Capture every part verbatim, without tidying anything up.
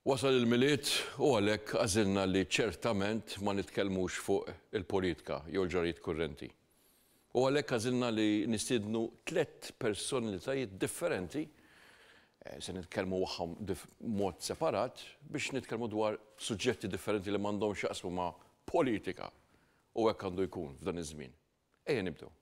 Wasal il-Milied u għalhekk għażilna li ċertament ma nitkellmux fuq il-politika jew l-ġrajjiet kurrenti. U għalhekk għażilna li nistiednu tliet personalitajiet differenti, eh, se nitkellmu magħhom mod separat biex nitkellmu dwar suġġetti differenti li m'għandhomx jaqsmu ma' politika u hekk għandu jkun f'dan iż-żmien. Ejja nibdew.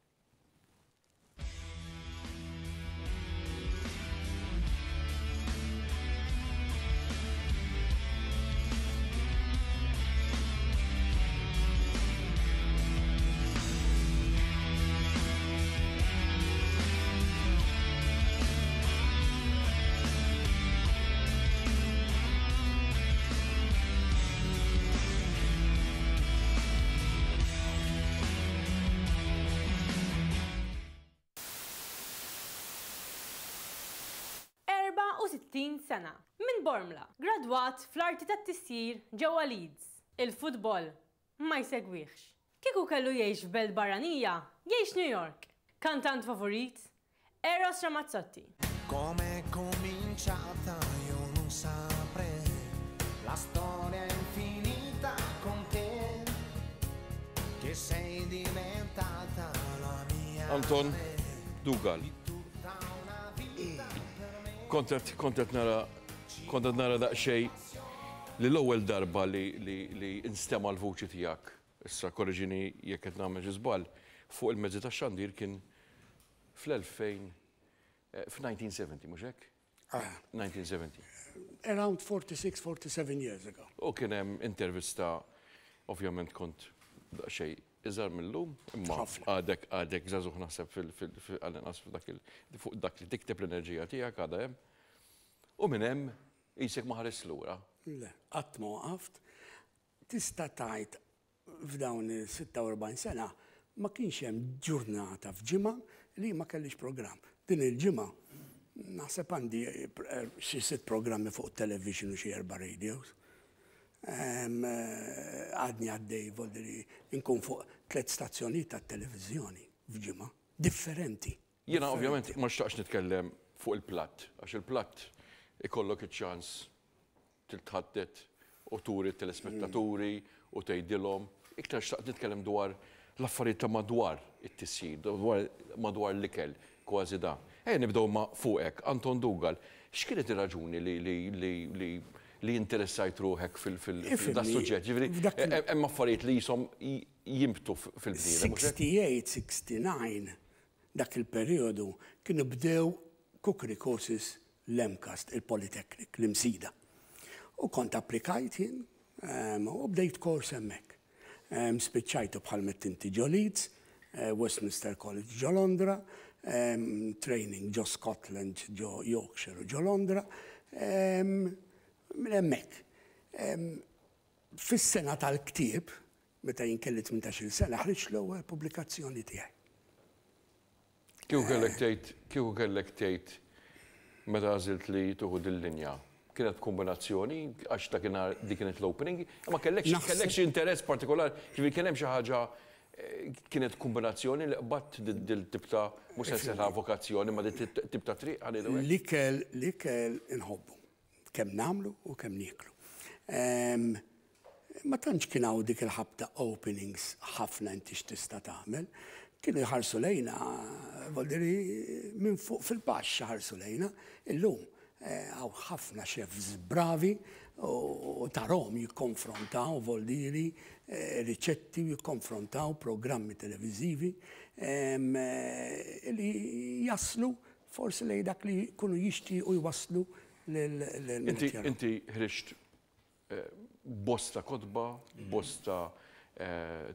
sittin sena. Minn Bormla, gradwat fl-arti tat-tisjir ġewwa Leeds. Il-futbol ma jsegwihx. Kieku kellu jgħix f'belt barranija, jgħix New York. Kantant favorit, Eros Ramazzotti. Come cominciata io non saprei, la storia infinita con te, che sei diventata la mia. Anton Dougall. Kont kont nara kont nara daqsxejn li l-ewwel darba li li li instema' l-vuċi tiegħek, issa korreġini jekk qed nagħmel xi żball, fuq il-mezzi tax-xandir kien fl-elfejn f'nineteen seventy, mhux hekk? nineteen seventy. Around forty-six, forty-seven years ago. U kien hemm intervista, ovvjament kont daqsxejn iżgħar mill-lum, imma għadek għadek żagħżugħ naħseb għall-inqas fuq dak li tikteb l-enerġija tiegħek għadha hemm. U minn hemm qisek ma ħares lura. Le, qatt ma waqaft. Tista' tgħid f'dawn is-sitta u erbgħin sena ma kienx hemm ġurnata f'ġimgħa li ma kellix programm. Din il-ġimgħa naħseb għandi xi sitt programmi fuq television u xi erba' radios. Għadni għaddej, voldiri, nkun fuq tliet stazzjonijiet tat-televiżjoni f'ġimgħa differenti. Jiena ovvjament ma xtaqx nitkellem fuq il-platt, għax il-platt ikollok iċ-ċans titħaddet u turi t-telespettaturi u tgħidilhom. Iktar xtaqt nitkellem dwar l-affarijiet ta' madwar it-tisjir, dwar madwar l-ikel, kważi da. Ejja nibdew ma' fuqek, Anton Dougall, x'kienet ir-raġuni li li li li li interessajt ruħek fil-da suġġett? Ġifieri, hemm affarijiet li jisom jimbtu fil-bniedem. sixty-eight, sixty-nine, dak il-perjodu kienu bdew cookery courses l-MCAST, il-Polytechnic, l-Imsida. U kont applikajt jien u bdejt kors hemmhekk. Spiċċajtu bħal mettinti ġo Leeds, Westminster College ġo Londra, training ġo Scotland, ġo Yorkshire u ġo Londra. Minn hemmhekk. Fis-sena tal-ktieb, meta jien kelli tmintax-il sena, ħriġt l-ewwel pubblikazzjoni tiegħi. Kieku kellek tgħid, kieku kellek tgħid meta għażilt li tieħu dil-linja, kienet kombinazzjoni għax dakinhar dik kienet l-opening, imma kellek kellek xi interess partikolari, ġifieri kien hemm xi ħaġa, kienet kombinazzjoni li qbadt dil-tip ta' mhux se nsejħilha vokazzjoni, ma dil-tip ta' triq għal L-ikel, l-ikel inħobbu. Kemm nagħmlu u kemm nieklu. Ma tantx kien hawn dik il-ħabta openings ħafna inti x'tista' tagħmel. Kienu jħarsu lejna, voldiri minn fuq fil-baxx ħarsu lejna. Illum hawn ħafna chefs bravi u tarahom jikkonfrontaw voldiri riċetti u jikkonfrontaw programmi televiżivi li jaslu forsi lejn dak li jkunu jixtiequ jwasslu. Inti ħriġt bosta kotba, bosta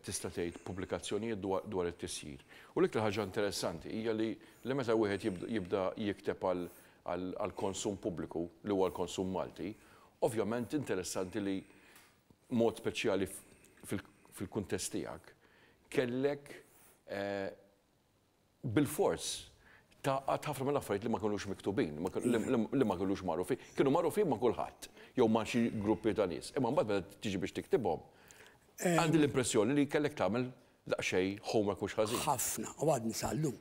tista' tgħid pubblikazzjonijiet dwar it-tisjir. U l-iktar ħaġa interessanti hija li meta wieħed jibda jikteb għall-konsum pubbliku, li huwa l-konsum Malti, ovvjament interessanti li mod speċjali fil-kuntest tiegħek kellek bil-fors taqgħad ħafna mill-affarijiet li ma kinux miktubin, li ma kinux magħrufin. Kienu magħrufin ma' kulħadd, jew ma' xi gruppi ta' nies. Imma mbagħad meta tiġi biex tiktibhom, għandi l-impressjoni li kellek tagħmel daqsxejn homework mhux ħażin. Ħafna, u għadni sal-lum.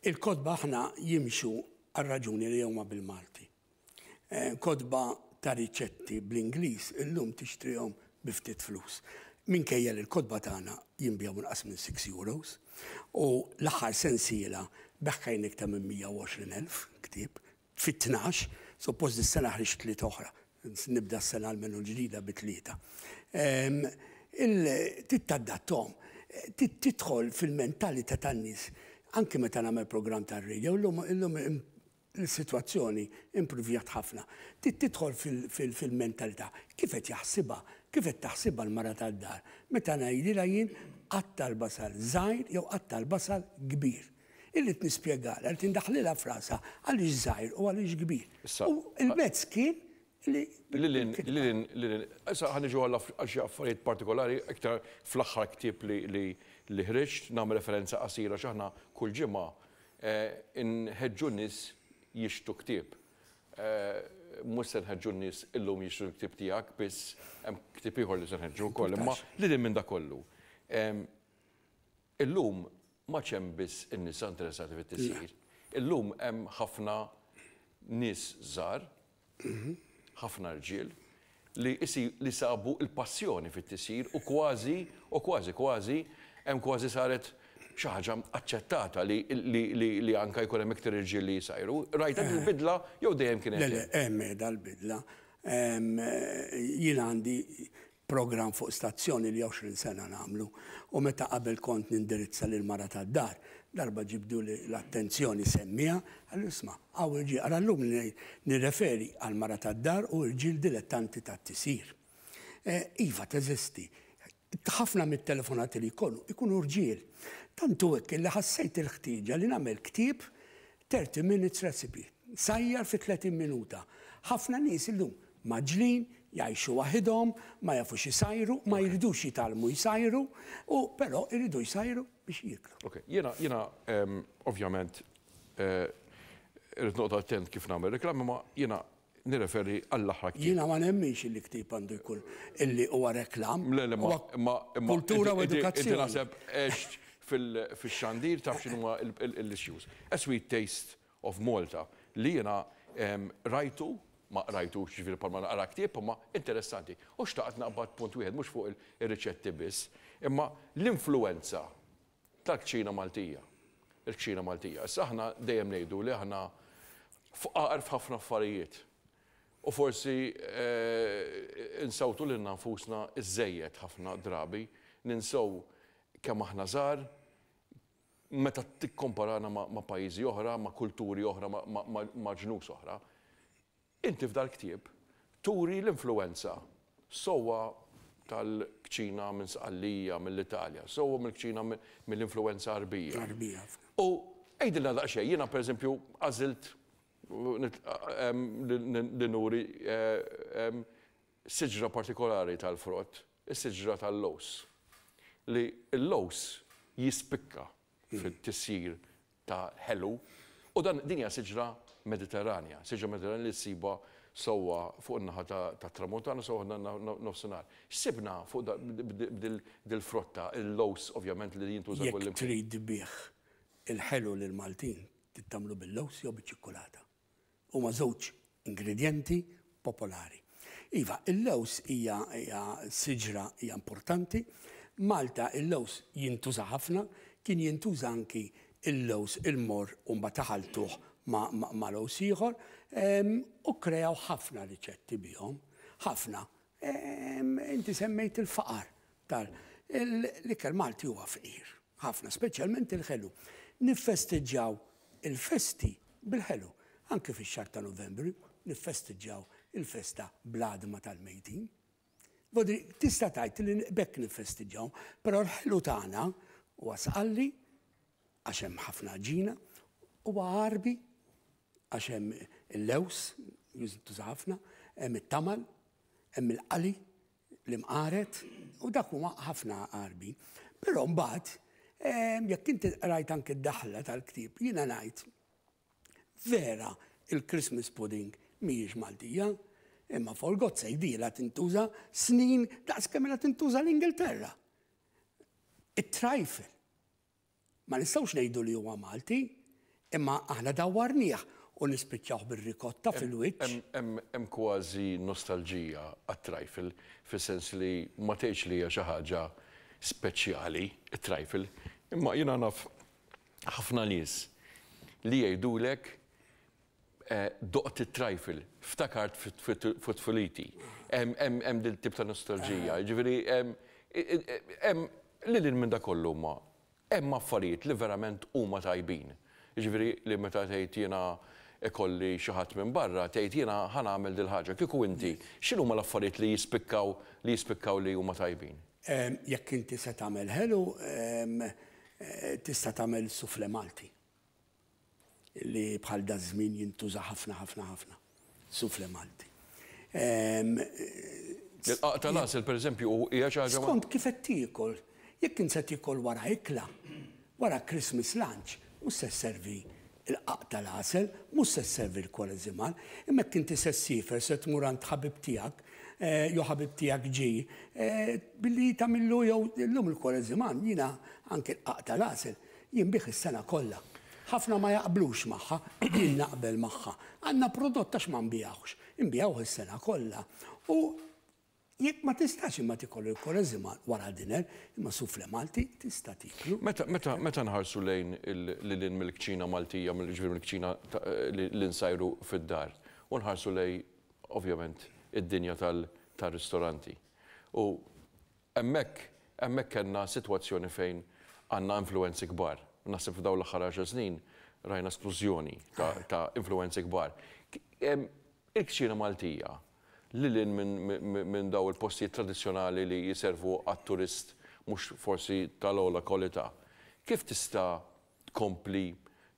Il-kotba aħna jimxu għar-raġuni li huma bil-Malti. Kotba ta' riċetti bl-Ingliż illum tixtrihom bi ftit flus. Minkejja li l-kotba tagħna jinbiegħu inqas minn sitt euros u l-aħħar sensiela begħna iktar minn mija u għoxrin elf ktieb fit-tnax, suppost dis-sena ħriġt tliet oħra. Nibda s-sena almenu l-ġdida bi tlieta. Titadattahom, tidħol fil-mentalità tan-nies, anke meta nagħmel programm tar-radio, illum il-sitwazzjoni improvjat ħafna. Tidħol fil-mentalità. Kif qed jaħsibha, kif qed taħsibha l-mara tad-dar? Meta ngħidilha jien qatta' l-basal żgħir jew qatta' l-basal kbir. Irrid nispjegalha, irrid indaħħlilha f'rasha għaliex żgħir u għaliex kbir. U il-mezz kien li. Lilin, Lilin, Lilin, issa ħa niġu għal xi affarijiet partikolari, iktar fl-aħħar ktieb li li ħriġt, nagħmel referenza qasira x'aħna kull ġimgħa inħeġġu nies jixtru ktieb. Mhux se nħeġġu n-nies illum jixtru l-ktieb tiegħek biss, hemm ktieb ieħor li se nħeġġu wkoll, imma lil minn da kollu. Illum ma hemm biss in-nisa interessati fit-tisjir. Illum hemm ħafna nies żgħar, ħafna rġiel, li isi li sabu il-passjoni fit-tisjir u kważi, u kważi, kważi, hemm kważi saret xi ħaġa aċċettata li, li, li, li anka jkun hemm iktar irġiel li jsajru. Rajta il-bidla jew dejjem kienet? Le, le, hemm dal-bidla. Jien għandi program fuq stazzjoni li għoxrin sena nagħmlu u meta qabel kont nindirizza lil mara tad-dar, darba ġibdu l-attenzjoni semmija, għallu isma', hawn irġiel, għara llum nirreferi għal mara tad-dar u irġiel dilettanti tat-tisjir. Iva, teżisti. Ħafna mit-telefonati li jkunu, ikunu rġiel. Tantu hekk li ħassejt il-ħtieġa li nagħmel ktieb thirty minutes recipe. Sajjar fi tletin minuta. Ħafna nies illum mgħaġġlin, jgħixu waħidhom, ma jafux jisajru, ma jridux jitgħallmu jisajru, u però jridu jisajru biex jiklu. Ok, jiena, jiena, ovvjament, irrid noqgħod attent kif nagħmel reklami, ma jiena nirreferi għall-aħħar ktieb. Jiena ma nemminx li ktieb għandu jkun illi huwa reklam. Le, le, ma, ma, kultura u inti edukazzjoni. Naħseb għext fil-xandir, taf x'inhuma l-issues. A Sweet Taste of Malta li jiena rajtu, ma rajtu ġifieri palma naqra ktieb, ma interessanti. U xtaqt naqbad punt wieħed, mhux fuq il-riċetti biss, imma l-influenza tal-kċina Maltija. Il-kċina Maltija. Issa aħna dejjem ngħidu li aħna fqar f'ħafna affarijiet. U forsi insawtu lilna nfusna iżżejjed ħafna drabi, ninsew kemm aħna żgħar, meta tikkomparana ma' pajjiżi oħra, ma' kulturi oħra, ma' ġnus oħra. Inti f'dal ktieb turi l-influenza sewwa tal-kċina minn Sqallija, mill-Italja, sewwa mill-kċina mill-influenza Arbija. Arbija. U għidilna daqsxejn, jiena per eżempju għażilt li nuri siġra partikolari tal-frott, is-siġra tal-lewż. Li l-lewż jispikka fit-tisjir ta' ħelu u dan din hija siġra Mediterranja, siġra Mediterranja li ssiba sewwa fuq in-naħa ta' tramuntana, sewwa nofsinhar. Sibna fuq dil-frotta, il-lewż ovvjament li jintuża kull. Jekk trid tbigħ il-ħelu lil Maltin, tagħmlu bil-lewż jew biċ-ċikkulata. Huma żewġ ingredienti popolari. Iva, il-lewż hija siġra hija importanti. Malta il-lewż jintuża ħafna, kien jintuża anki il-lewż il-morr u mbagħad taħaltuh ma' lewż ieħor u kreaw ħafna riċetti bihom, ħafna. Inti semmejt il-faqar tal l-ikel Malti huwa fqir, ħafna, speċjalment il-ħelu. Niffesteġġjaw il-festi bil-ħelu. Anke fix-xahar ta' Novembru niffesteġġjaw il-festa bl-għadma tal-mejtin. Vodri, tista' tgħid li bekk niffesteġġjaw, però l-ħelu tagħna huwa Sqalli għax hemm ħafna għaġina, huwa Għarbi għax hemm il-lewż, jintuża ħafna, hemm it-tamal, hemm il-qali, l-imqaret, u dak huma ħafna Għarbi. Però mbagħad, jekk inti rajt anke d-daħla tal-ktieb, jiena ngħid vera il-Christmas pudding mhijiex Maltija, imma for God's sake dila tintuża snin daqs kemm ilha tintuża l-Ingilterra. It-trifle. Ma nistgħux ngħidu li huwa Malti, imma aħna dawwarnieh u nispiċċaw bir-rikotta fil-wiċċ. Hemm kważi nostalġija għat-trifle, fis-sens li ma tgħidx li hija xi ħaġa speċjali it-trifle, imma jiena naf ħafna nies li jgħidulek doqt it-trifle, ftakart fit-tfuliti. Hemm dil tip ta' nostalġija, ġifieri hemm lil minn da kollu ma hemm affarijiet li verament huma tajbin. Ġifieri li meta tgħid jiena ikolli xi ħadd minn barra, tgħid jiena ħa nagħmel dil ħaġa. Kieku inti, x'inhuma l-affarijiet li jispikkaw li jispikkaw li huma tajbin? Jekk inti se tagħmel ħelu, tista' tagħmel soufflé Malti. Li bħal da żmien jintuża ħafna ħafna ħafna. Soufflé Malti. Il-qaq tal-għasel, pereżempju, hija xi ħaġa. Skont kif qed tiekol. Jekk int se tiekol wara ikla, wara Christmas lunch, mhux se sservi il-qaq tal-għasel, mhux se sservi l-kwareżimal, imma jekk inti se ssiefer, se tmur għand ħabib tiegħek, jew ħabib tiegħek ġie, billi tagħmillu jew illum il-kwareżimal, jiena anke l-qaq tal-għasel jien bih is-sena kollha. Ħafna ma jaqblux magħha, jien naqbel magħha. Għandna prodott għax ma nbijawx, nbijawh is-sena kollha. U jekk ma tistax imma tikol il-kwareżimal wara dinner, imma soufflé Malti tista' tiklu. Meta meta meta nħarsu lejn lil mill-kċina Maltija, mill-ġifieri mill-kċina li nsajru fid-dar, u nħarsu lejn ovvjament id-dinja tal-ristoranti. U hemmhekk hemmhekk kellna sitwazzjoni fejn għandna influenzi kbar. Naħseb f'dawn l-aħħar għaxar snin rajna splużjoni ta' influenzi kbar. Il-kċina Maltija lil minn daw il-postijiet tradizzjonali li jiservu għat-turist mhux forsi tal-ogħla kwalità, kif tista' tkompli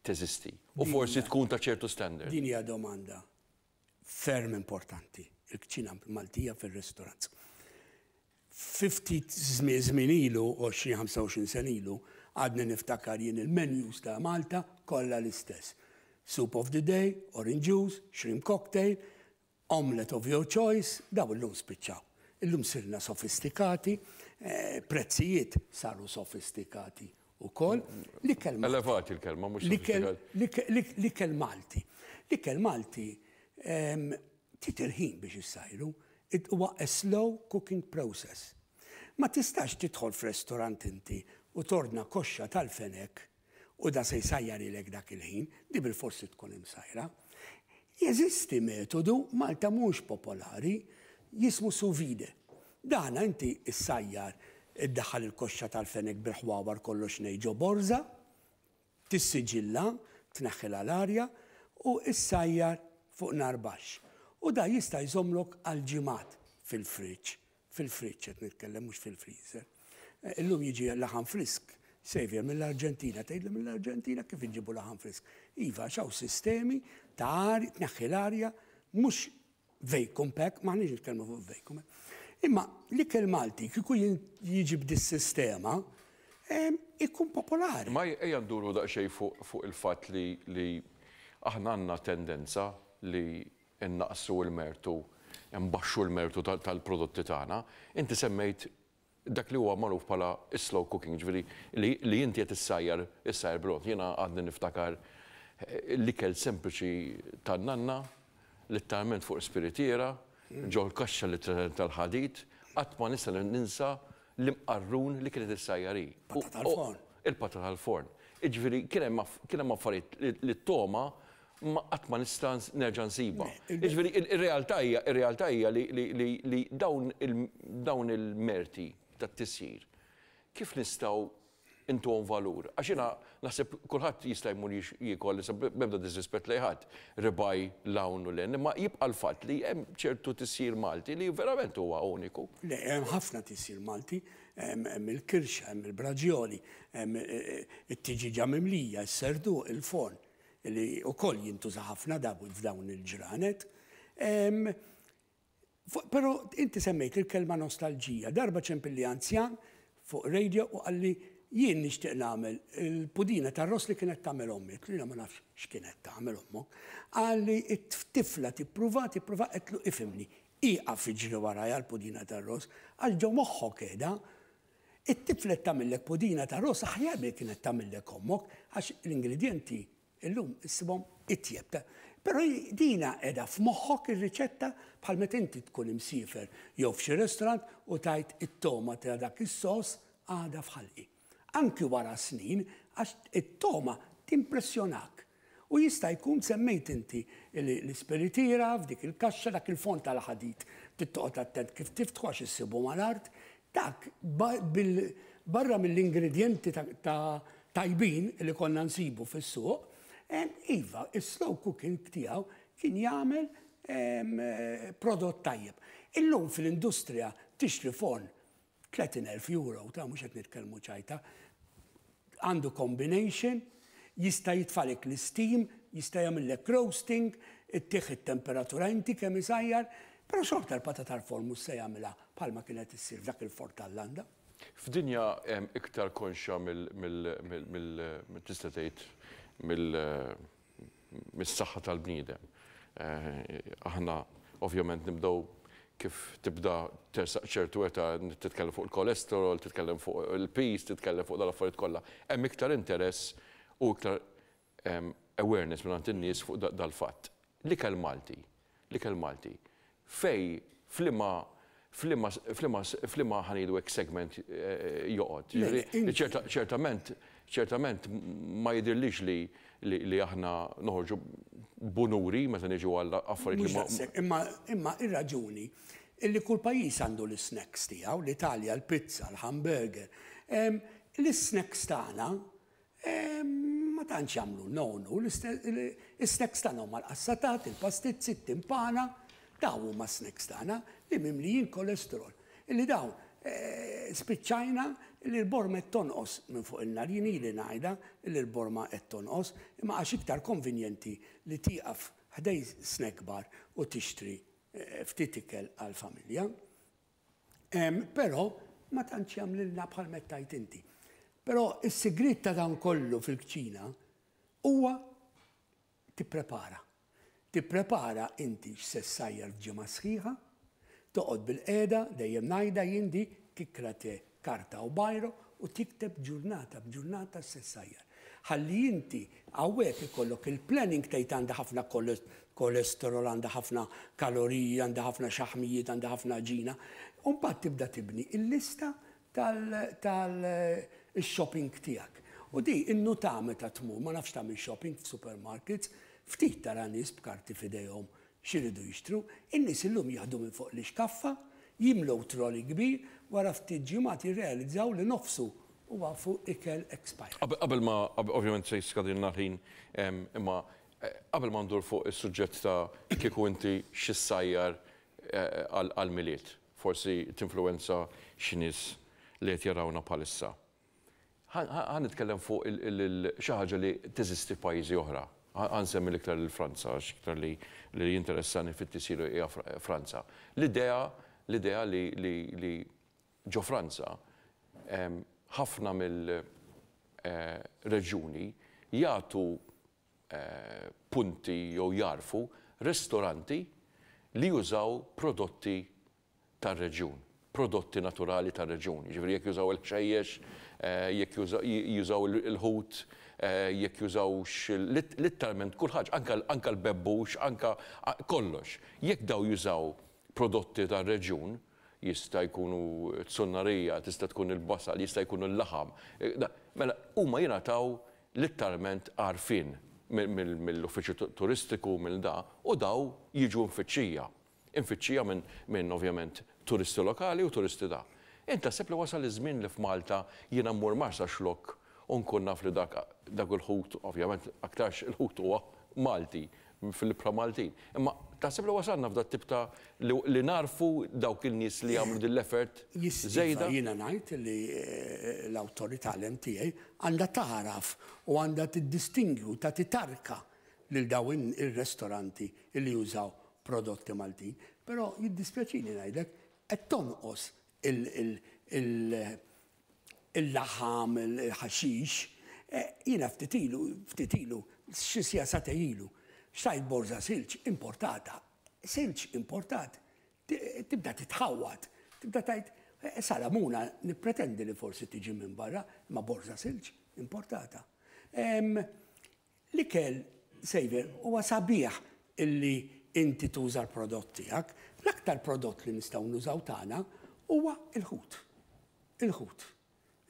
teżisti u forsi tkun ta' ċertu standard? Din hija domanda ferm importanti, il-kċina Maltija fir-ristorant. Fiftit żmien ilu, għoxrin ħamsa u għoxrin sena ilu, għadni niftakar jien il-menus ta' Malta kollha l-istess. Soup of the day, orange juice, shrimp cocktail, omelette of your choice, daw illum spiċċaw. Illum sirna sofistikati, prezzijiet saru sofistikati ukoll. L-ikel Malti. Elevati l-kelma, mhux sofistikati. L-ikel Malti. L-ikel Malti trid il-ħin biex issajru. Huwa a slow cooking process. Ma tistax tidħol f'restorant inti u tordna koxxa tal-fenek u da se jsajjarilek dak il-ħin, di bil-forsi tkun imsajra. Jeżisti metodu Malta mhux popolari jismu sous vide. Dana inti issajjar iddaħħal il-koxxa tal-fenek bil-ħwawar kollox nej ġo borża, tissiġilla, tneħħilha l-arja u issajjar fuq nar baxx. U da jista' jżomlok għal ġimgħat fil-friġġ, fil-friġġ qed nitkellem mhux fil-freezer. Illum jiġi laħam frisk, Xavier mill-Arġentina, tgħidli mill-Arġentina kif iġibu laħam frisk. Iva, xaw sistemi ta' arja, tneħħi l-arja, mhux vacuum pack, m'aħniex nitkellmu fuq vacuum pack. Imma l-ikel Malti kieku jiġi b'dis-sistema, ikun popolari. Ma ejja nduru daqsxejn fuq il-fatt li aħna għandna tendenza li innaqsu l-mertu, nbaxxu l-mertu tal-prodotti tagħna. Inti semmejt dak li huwa magħruf bħala slow cooking, ġifieri li inti qed issajjar issajjar bil-mod. Jiena għadni niftakar l-ikel sempliċi tan-nanna, letteralment fuq spiritiera, ġol kaxxa li tal-ħadid, qatt ma nista' ninsa l-imqarrun li kienet issajjar hi. Patata tal-forn. Il-patata tal-forn. Jiġifieri kien hemm affarijiet li t-toma ma qatt ma nista' nerġa' nsibha. Jiġifieri ir-realtà hija ir-realtà hija li dawn il-merti tat-tisjir kif nistgħu intuhom valur? Għax jiena naħseb kulħadd jista' jmur jiekol b'ebda disrispett lejn ħadd, ribaj l-hawn u l-hemm, imma jibqa' l-fatt li hemm ċertu tisjir Malti li verament huwa uniku. Le, hemm ħafna tisjir Malti, hemm il-kirxa, hemm il-braġjoli, hemm it-tiġiġa mimlija, is-serduq, il-forn, li wkoll jintuża ħafna f'dawn il-ġranet. Però inti semmejt il-kelma nostalġija. Darba ċempilli anzjan fuq radio u qalli jien nixtieq nagħmel il-pudina tar-ross li kienet tagħmel ommi. Għedtlu ma nafx x'kienet tagħmel ommok. Qalli t-tifla tippruva, tippruva, għedtlu ifhimni. Ieqaf iġri warajja l-pudina tar-ross, għal ġo moħħok qiegħda. It-tifla tagħmellek pudina tar-ross aħjar milli kienet tagħmellek ommok, għax l-ingredjenti illum issibhom itjeb. Però dina qiegħda f'moħħok ir-riċetta, bħal meta inti tkun imsiefer jew f'xi restaurant u tgħid it-togħma ta' dak is-sos għadha f'ħalqi. Anki wara snin, għax it-togħma timpressjonak. U jista' jkun semmejt inti l-ispiritira f'dik il-kaxxa, dak il-fond tal-ħadid. Trid toqgħod attent kif tiftħu għax issibu mal-art. Dak barra mill-ingredienti ta' tajbin li konna nsibu fis-suq, iva, il-slow cooking tiegħu kien jagħmel prodott tajjeb. Illum fil-industrija tixtri forn tletin elf euro, ta' mhux qed nitkellmu ċajta, għandu combination, jista' jitfagħlek l-steam, jista' jagħmellek roasting, ittih it-temperatura inti kemm isajjar, però xorta l-patata tal-forn mhux se jagħmilha bħalma kienet issir f'dak il-forn tal-landa. F'dinja iktar konxja mill, tista' tgħid, mill-saħħa tal-bniedem. Aħna ovvjament nibdew kif tibda tersaq ċertu età, titkellem fuq il-kolesterol, titkellem fuq il-piż, titkellem fuq dal-affarijiet kollha. Hemm iktar interess u iktar awareness minn in-nies fuq dal-fatt. L-ikel Malti, l-ikel Malti, fej f'liema f'liema f'liema f'liema ħa ngħidu hekk segment joqgħod? Ċertament, ċertament ma jidirlix li li aħna noħorġu b'unuri meta niġu għal affarijiet li. Imma imma ir-raġuni illi kull pajjiż għandu l-snacks tiegħu, l-Italja, l-pizza, l-hamburger. L-snacks tagħna ma tantx jagħmlu nonu, l-snacks tagħna huma l-qassatat, il-pastizzi, it-timpana, dawn huma snacks tagħna li mimlijin kolesterol. Illi dawn spiċċajna li l-borma qed tonqos minn fuq il-nar, jien ili ngħidha li l-borma qed tonqos, imma għax iktar konvenjenti li tieqaf ħdejn snack bar u tixtri ftit ikel għal-familja. Però ma tantx jagħmlilna bħal mettajt inti. Però is-sigriet ta' dan kollu fil-kċina huwa tipprepara. Tipprepara inti x'se ssajjar f'ġimgħa sħiħa, toqgħod bil-qiegħda, dejjem ngħidha jien di, kikkra te karta u biro u tikteb ġurnata b'ġurnata x'se ssajjar. Ħalli inti hawnhekk ikollok il-planning, tgħid għandha ħafna kolesterol, għandha ħafna kaloriji, għandha ħafna xaħmijiet, għandha ħafna ġina. U mbagħad tibda tibni il-lista tal-shopping tiegħek. U di innuta meta tmur, ma nafx tagħmel shopping f'supermarkets, ftit tara nies b'karti f'idejhom x'iridu jixtru, in-nies illum jaħdu minn fuq l-iskaffa, jimlew trolley kbir, wara ftit ġimgħat jirrealizzaw li nofsu huwa fuq ikel expired. Qabel ma, ovvjament se jiskadilna ħin, imma qabel ma ndur fuq is-suġġett ta' kieku inti x'issajjar għal-Milied, forsi tinfluwenza xi nies li qed jarawna bħalissa. Ħa nitkellem fuq xi ħaġa li teżisti f'pajjiżi oħra. Ħa nsemmi l-iktar l-Franza, għax iktar li li jinteressani fit-tisjir hija Franza. L-idea l-idea li li ġo Franza ħafna mill-reġjuni jagħtu punti jew jarfu ristoranti li jużaw prodotti tar-reġjun, prodotti naturali tar-reġjun. Ġifieri jekk jużaw il-ħxejjex, jekk jużaw il-ħut, jekk jużawx litteralment kull ħaġa, anka l-bebbux, anka kollox. Jekk daw jużaw prodotti tar-reġjun, jista' jkunu tsunnarija, tista' tkun il-basal, jista' jkunu l-laħam. Mela huma jingħataw litteralment għarfien mill-uffiċċju turistiku mill da u daw jiġu mfittxija. Imfittxija minn min ovvjament turisti lokali u turisti da. Inta sepp li wasal iż-żmien li f'Malta jiena mmur Marsaxlokk u nkun naf li dak dak il-ħut, ovvjament aktarx il-ħut huwa Malti, fil-ibħra Maltin. Imma taħseb li wasalna f'dat tip ta' li narfu dawk il-nies li jagħmlu din l-effort żejda? Jiena ngħid li l-awtorità, l-M T A, għandha taħraf u għandha tiddistingwi, ta' titarka lil dawn ir-restoranti li jużaw prodotti Maltin. Però jiddispjaċini ngħidlek qed tonqos il-laħam, il-ħaxix. Jiena ftit ilu, ftit ilu, xi sija ilu, xtrajt borża silġ importata. Silġ importat, tibda titħawat, tibda tgħid, salamuna nippretendi li forsi tiġi minn barra, ma borża silġ importata. L-ikel, Xavier, huwa sabiħ illi inti tuża l-prodott tiegħek. L-aktar prodott li nistgħu nużaw tagħna huwa il-ħut. Il-ħut.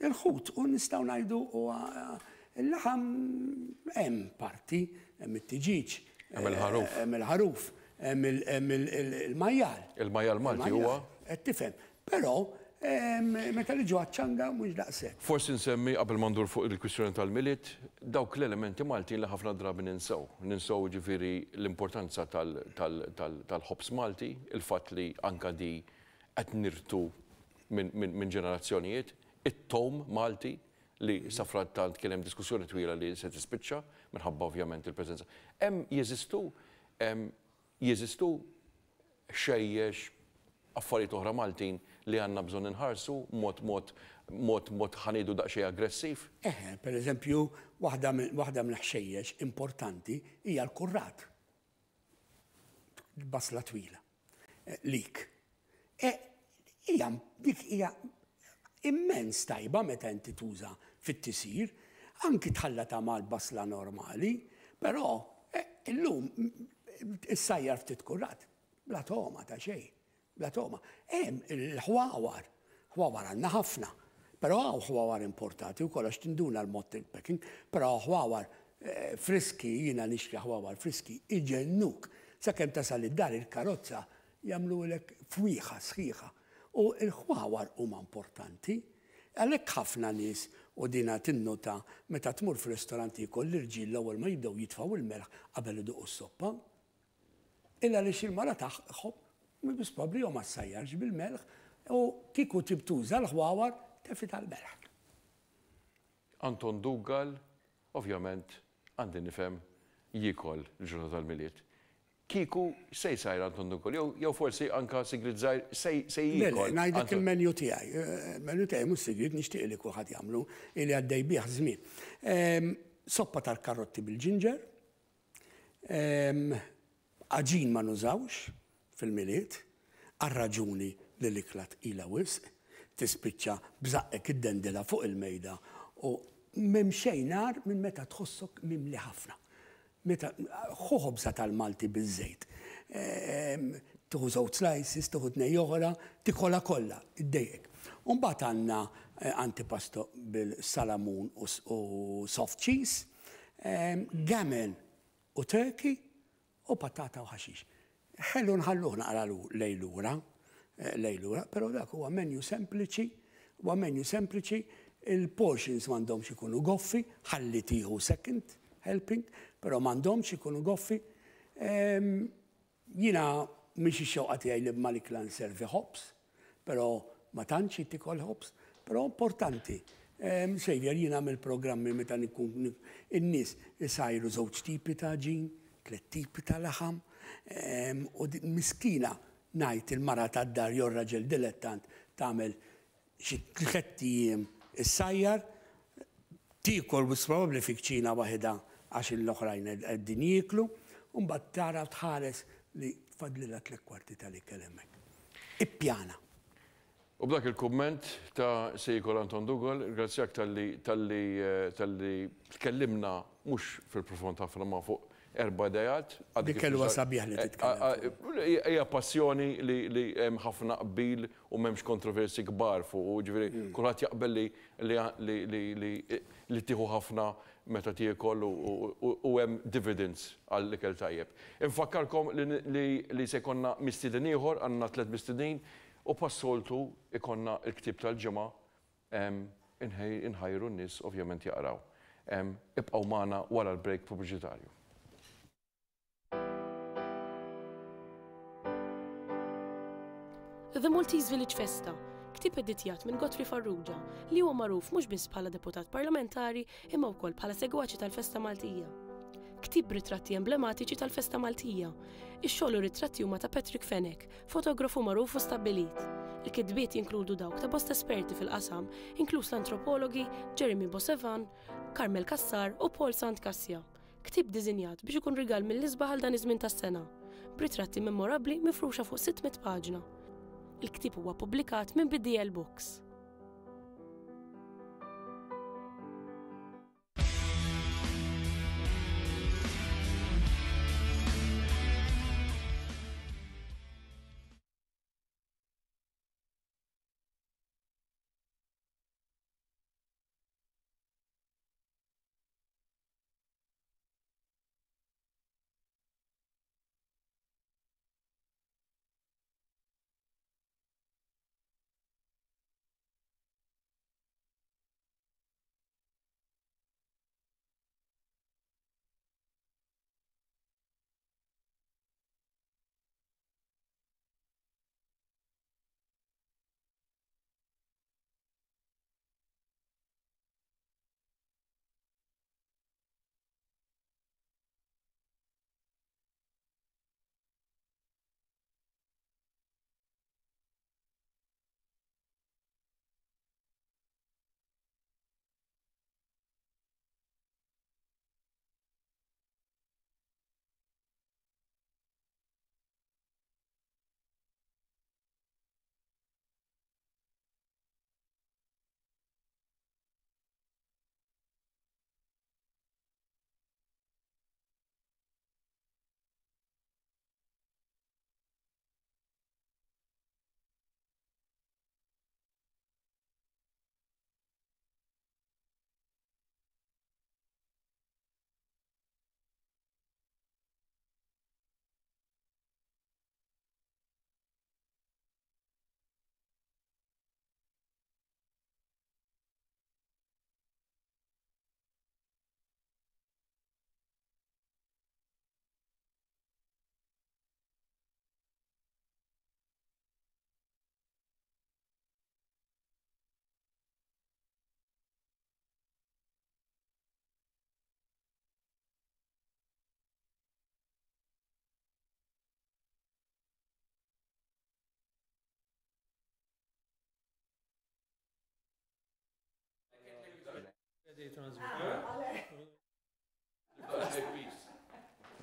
Il-ħut u nistgħu ngħidu huwa il-laħam hemm parti, hemm it-tiġiġ, hemm il-ħaruf, hemm il-ħaruf, hemm il-majjal. Il-majjal Malti huwa. Qed tifhem. Però meta li ġo għaċ-ċanga mhux daqshekk. Forsi nsemmi qabel ma ndur fuq il-kwistjoni tal-Milied, dawk l-elementi Maltin li ħafna drabi ninsew. Ninsew ġifieri l-importanza tal-ħobż Malti, il-fatt li anka di qed nirtu minn ġenerazzjonijiet, it-tom Malti li safrattant kien hemm diskussjoni twila li se tispiċċa minħabba ovvjament il-preżenza. Hemm jeżistu jeżistu xejjex affarijiet oħra Maltin li għandna bżonn inħarsu mod mod mod mod ħanidu daqsxejn aggressiv? Eħe, per eżempju, waħda mill-ħxejjex importanti hija l-kurrat. Basla twila. Lik. Hija dik hija immens tajba meta inti tuża fit-tisir, anki tħallata mal-basla normali, però illum issajjar ftit kurrat, bla togħma ta' xejn. Bla togħma. Hemm il-ħwawar, ħwawar għandna ħafna, però hawn ħwawar importati wkoll għax tinduna l-mod il-packing, però ħwawar friski, jiena nixtri ħwawar friski, iġennuk. Sakemm tasal id-dar il-karozza jagħmlulek fwieħa sħiħa. U l-ħwawar huma importanti. Għalhekk ħafna nies u dina tinnota meta tmur fir-ristoranti jkoll l-irġiel l-ewwel ma jibdew jitfgħu il-melħ qabel iduqu s-soppa. Illa għaliex il-mara tagħhom biss probabbli jew ma ssajjarx bil-melħ u kieku tibtuża l-ħwawar tefita l-melħ. Anton Dougal, ovvjament, għandi nifhem jiekol il-ġurnata tal-Milied. Kieku se jsajr Anton Dougal, jew forsi anka sigrit żgħir se jiekol. Le, ngħidlek il-menu tiegħi. Il-menu tiegħi mhux sigrit, nixtieq li kulħadd jagħmlu ili għaddej bih żmien. Soppa tal-karotti bil-ġinġer, għaġin ma nużawx fil-Milied, għar-raġuni li l-ikla tqila wisq, tispiċċa bżaqqek id-dendela fuq il-mejda u m'hemm xejn nar minn meta tħossok mimli ħafna. Meta ħu ħobża tal-Malti biż-żejt. Tieħu żewġ slices, tieħu tnejn oħra, tikolha kollha, iddejjek. U mbagħad għandna antipasto bil-salamun u soft cheese, gammon u turkey u patata u ħaxix. Ħellu nħalluh naqra lejlura, lejlura, però dak huwa menu sempliċi, huwa menu sempliċi, il-portions m'għandhomx ikunu goffi, ħalli tieħu second helping, però m'għandhomx ikunu goffi. Jiena mhix ix-xewqa tiegħi li mal-ikla nservi ħobż, però ma tantx tikol ħobż, però importanti. Xavier, jiena mill-programmi meta nkun in-nies isajru żewġ tipi ta' ġin, tliet tipi ta' laħam, u miskina ngħid il-mara tad-dar jew raġel dilettant tagħmel xi tliet ijiem issajjar, tiekol biss probabbli fi kċina waħedha għax l-oħrajn qegħdin jieklu, u mbagħad tara tħares li tfadlilha tliet kwarti tal-ikel hemmhekk. Ippjana. U b'dak il-kumment ta' se jiekol Anton Dougal, ringrazzjak talli talli tkellimna mhux fil-profond ħafna ma fuq erba' idejat. Dik kelwa sabiħ li titkellem. Hija passjoni li hemm ħafna qbil u m'hemmx kontroversi kbar fuq, ġifieri kulħadd jaqbel li tieħu ħafna meta tiekol u hemm dividends għall-ikel tajjeb. Infakkarkom li se jkollna mistieden ieħor, għandna tliet mistednin, u passoltu ikonna l-ktieb tal-ġimgħa inħajru n-nies ovvjament jaqraw. Ibqgħu magħna wara l-break pubbliċitarju. The Maltese Village Festa, ktieb editjat minn Godfrey Farrugia, li huwa magħruf mhux biss bħala deputat parlamentari imma wkoll bħala segwaċi tal-Festa Maltija. Ktieb ritratti emblematiċi tal-Festa Maltija. Ix-xogħol u ritratti huma ta' Patrick Fenech, fotografu magħruf u stabbilit. Il-kitbiet jinkludu dawk ta' bosta esperti fil-qasam, inkluż l-antropologi Jeremy Bosevan, Carmel Cassar u Paul Sant Cassia. Ktieb diżinjat biex ikun rigal mill-isbaħ għal dan iż-żmien tas-sena, b'ritratti memorabbli mifruxa fuq sitt mitt paġna. Il-ktieb huwa ppubblikat minn B D L Books.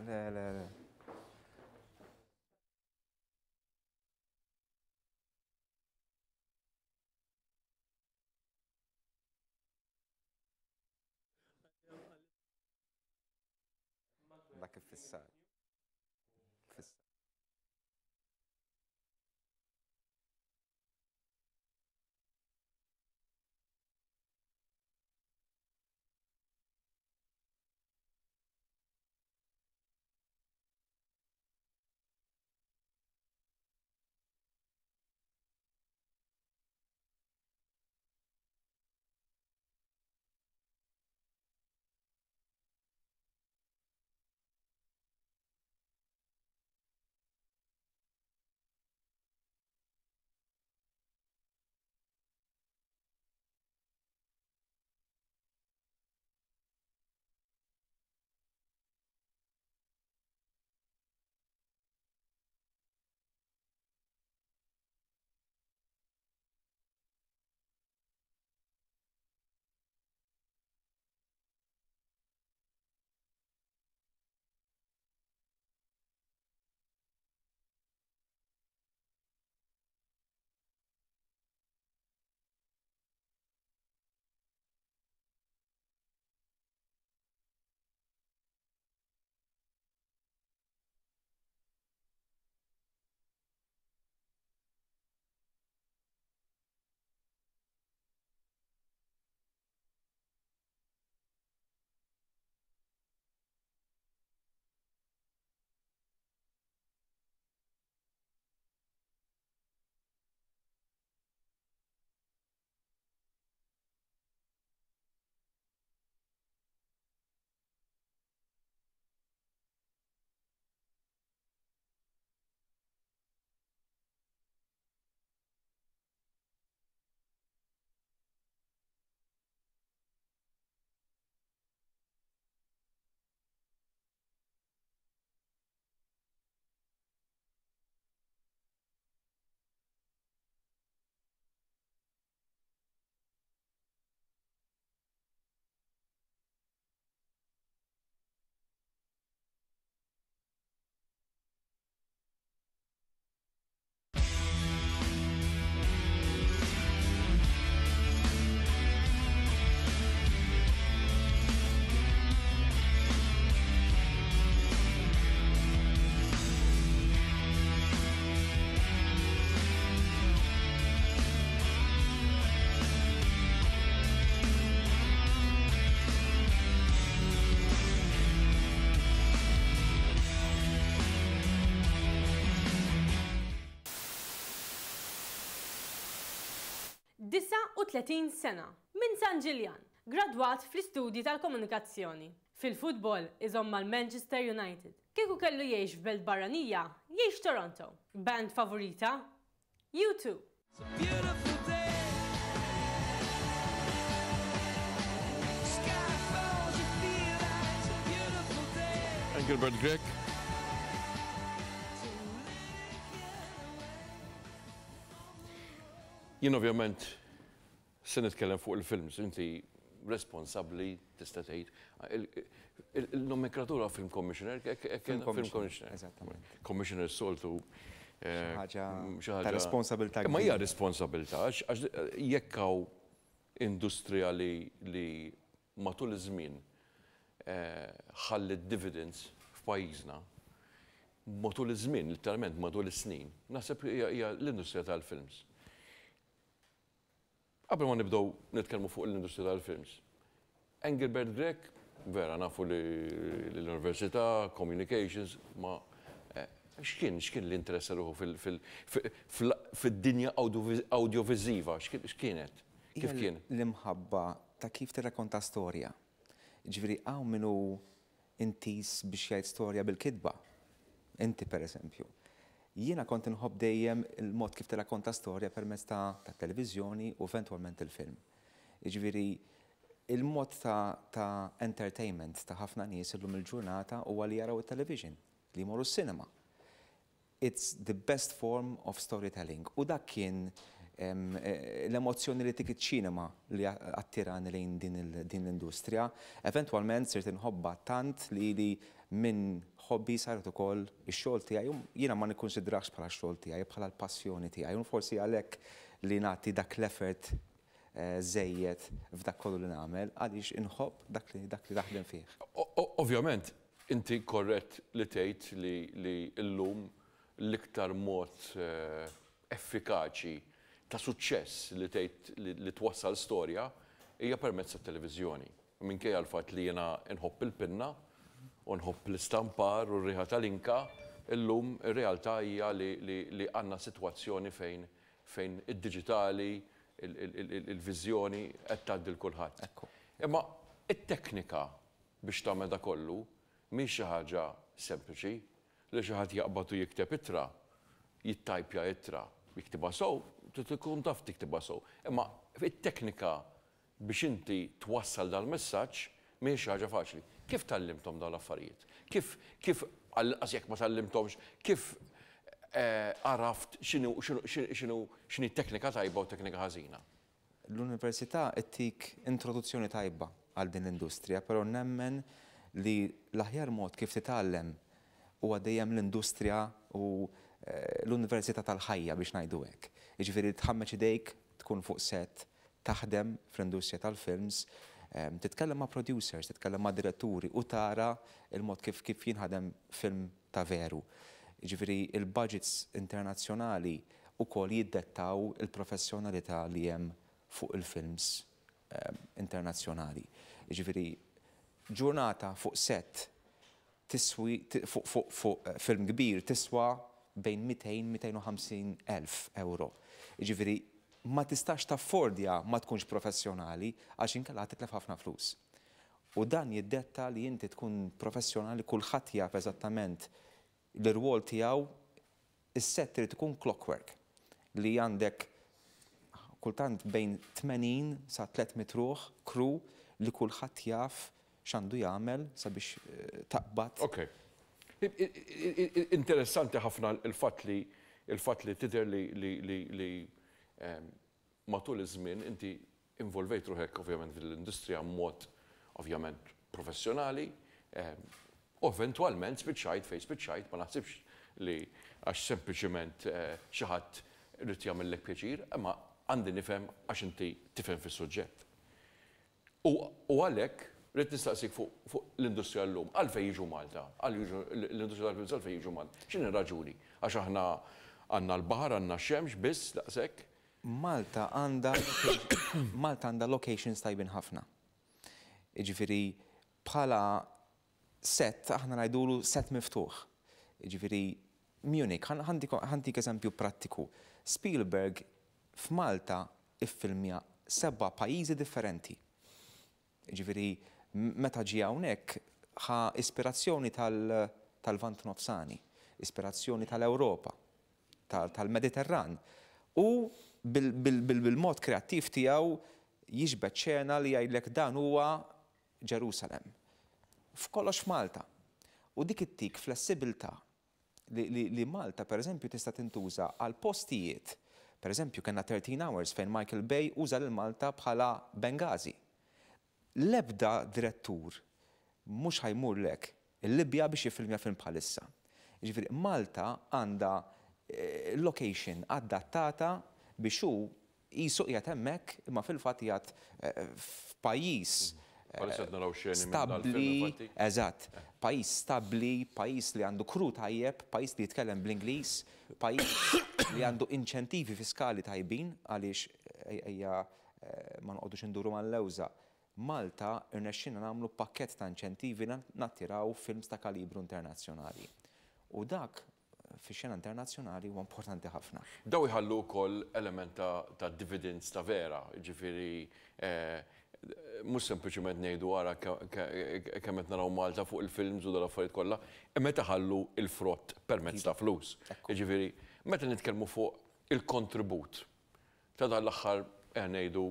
Le, le, le. Dak iffissat. Fissat. Disa u tletin sena, minn San Ġiljan, gradwat fl-istudji tal-komunikazzjoni. Fil-futbol iżomm mal-Manchester United. Kieku kellu jgħix f'belt barranija, jgħix Toronto. Band favorita? U two. Engelbert Grech. Jien ovvjament se nitkellem fuq il-films, inti responsabbli tista' tgħid. Il-nomenklatura film commissioner, film commissioner. Eżattament. Commissioner soltu. Xi ħaġa ta' responsabilità. Ma hija responsabilità, għax jekk hawn industrija li matul iż-żmien ħallit dividends f'pajjiżna, matul iż-żmien, literalment matul is-snin, naħseb hija l-industrija tal-films. Qabel ma nibdew nitkellmu fuq l-industrija tal-films. Engelbert Grech, vera nafu li l-università, communications, ma x'kien x'kien l-interess ruħu fid-dinja audiovisiva, x'kienet? Kif kien? L-imħabba ta' kif tirrakkonta storja. Ġifieri hawn min hu intis biex jgħid storja bil-kitba. Inti pereżempju. Jiena kont inħobb dejjem il-mod kif tirrakkonta storja permezz ta' televiżjoni u eventwalment il-film. Jiġifieri il-mod ta' entertainment ta' ħafna nies illum il-ġurnata huwa li jaraw it-television, li jmorru s-cinema. It's the best form of storytelling. U dak kien L-emozzjoni li tik iċ-ċinema li attirani lejn din l-industrija. Eventwalment sirt inħobba tant li li minn hobby saret ukoll ix-xogħol tiegħi. Jiena ma nikkonsidrax bħala x-xogħol tiegħi, bħala l-passjoni tiegħi. U forsi għalhekk li nagħti dak l-effort żejjed f'dak kollu li nagħmel, għaliex inħobb dak li dak li naħdem fih. Ovvjament, inti korrett li tgħid li llum l-iktar mod effikaċi ta' suċċess li tgħid li twassal storja hija permezz tat-televiżjoni. Minkejja l-fatt li jiena nħobb il-pinna u nħobb l-istampar u r-riħa tal-inka, illum ir-realtà hija li għandna sitwazzjoni fejn fejn id-diġitali, il-viżjoni qed tgħaddi l kulħadd. Imma it-teknika biex tagħmel da kollu mhix xi ħaġa sempliċi li xi ħadd jaqbad u jikteb ittra, jittajpja ittra, jiktibha sew, tkun taf tiktibha sew. Imma it-teknika biex inti twassal dal-messaġġ mhix xi ħaġa faċli. Kif tgħallimthom dawn l-affarijiet? Kif kif għall-inqas jekk ma tgħallimthomx, kif għaraft x'inhu x'inhu x'inhi teknika tajba u teknika ħażina? L-università ttik introduzzjoni tajba għal din l-industrija, però nemmen li l-aħjar mod kif titgħallem huwa dejjem l-industrija u l-università tal-ħajja biex ngħidu hekk. Jiġifieri tħammeġ idejk, tkun fuq set, taħdem fl-industrija tal-films, titkellem ma' producers, titkellem ma' diretturi u tara il-mod kif kif jinħadem film ta' veru. Jiġifieri il-budgets internazzjonali ukoll jiddettaw il-professjonalità li hemm fuq il-films internazzjonali. Jiġifieri ġurnata fuq set tiswi fuq fuq film kbir tiswa bejn mitejn mitejn u ħamsin elf euro. Jiġifieri ma tistax taffordja ma tkunx professjonali għax inkella titlef ħafna flus. U dan jiddetta li inti tkun professjonali, kulħadd jaf eżattament l-irwol tiegħu, is-set trid ikun clockwork li għandek kultant bejn tmenin sa tliet mitt ruħ crew li kulħadd jaf x'għandu jagħmel sabiex taqbad. Ok. Interessanti ħafna il-fatt li il-fatt li tidher li li li matul iż-żmien inti involvejt ruħek ovvjament fil-industrija mod ovvjament professjonali, u eventwalment spiċċajt fejn spiċċajt, ma naħsibx li għax sempliċiment xi ħadd irid jagħmellek pjaċir, imma għandi nifhem għax inti tifhem fis-suġġett. U għalhekk rrid nistaqsik fuq l-industrija llum, għalfejn jiġu Malta, l-industrija tal-films għalfejn jiġu Malta. X'inhi r-raġuni? Għax aħna għandna l-baħar, għandna x-xemx biss daqshekk. Malta għandha Malta għandha locations tajbin ħafna. Jiġifieri bħala set aħna ngħidulu set miftuħ. Jiġifieri Munich, ħantik eżempju prattiku. Spielberg f'Malta iffilmja seba' pajjiżi differenti. Jiġifieri meta ġie hawnhekk ħa ispirazzjoni tal-Lvant Nofsani, ispirazzjoni tal-Ewropa, tal-Mediterran. U bil-mod kreattiv tiegħu jiġbed xena li jgħidlek dan huwa Ġerusalem. F'kollox f'Malta. U dik ittik flessibilità li Malta, per eżempju, tista' tintuża għal postijiet. Per eżempju, kellna thirteen Hours fejn Michael Bay uża lil Malta bħala Benghazi. L-ebda direttur mhux ħajmurlek il-Libja biex jiffilmja film bħalissa. Jiġifieri Malta għandha location adattata biex hu qisu qiegħed hemmhekk imma fil-fatt qiegħed f'pajjiż stabbli, eżatt, pajjiż stabbli, pajjiż li għandu crew tajjeb, pajjiż li jitkellem bl-Ingliż, pajjiż li għandu inċentivi fiskali tajbin għaliex ejja ma noqogħdux induru mal-lewża. Malta irnexxina nagħmlu pakkett ta' inċentivi nattiraw films ta' kalibru internazzjonali. U dak fix-xena internazzjonali huwa importanti ħafna. Daw iħallu wkoll element ta' dividends ta' vera, jiġifieri mhux sempliċement ngħidu ara kemm qed naraw Malta fuq il-films u dal-affarijiet kollha, imma taħallu il-frott permezz ta' flus. Jiġifieri meta nitkellmu fuq il-kontribut ta' dan l-aħħar ngħidu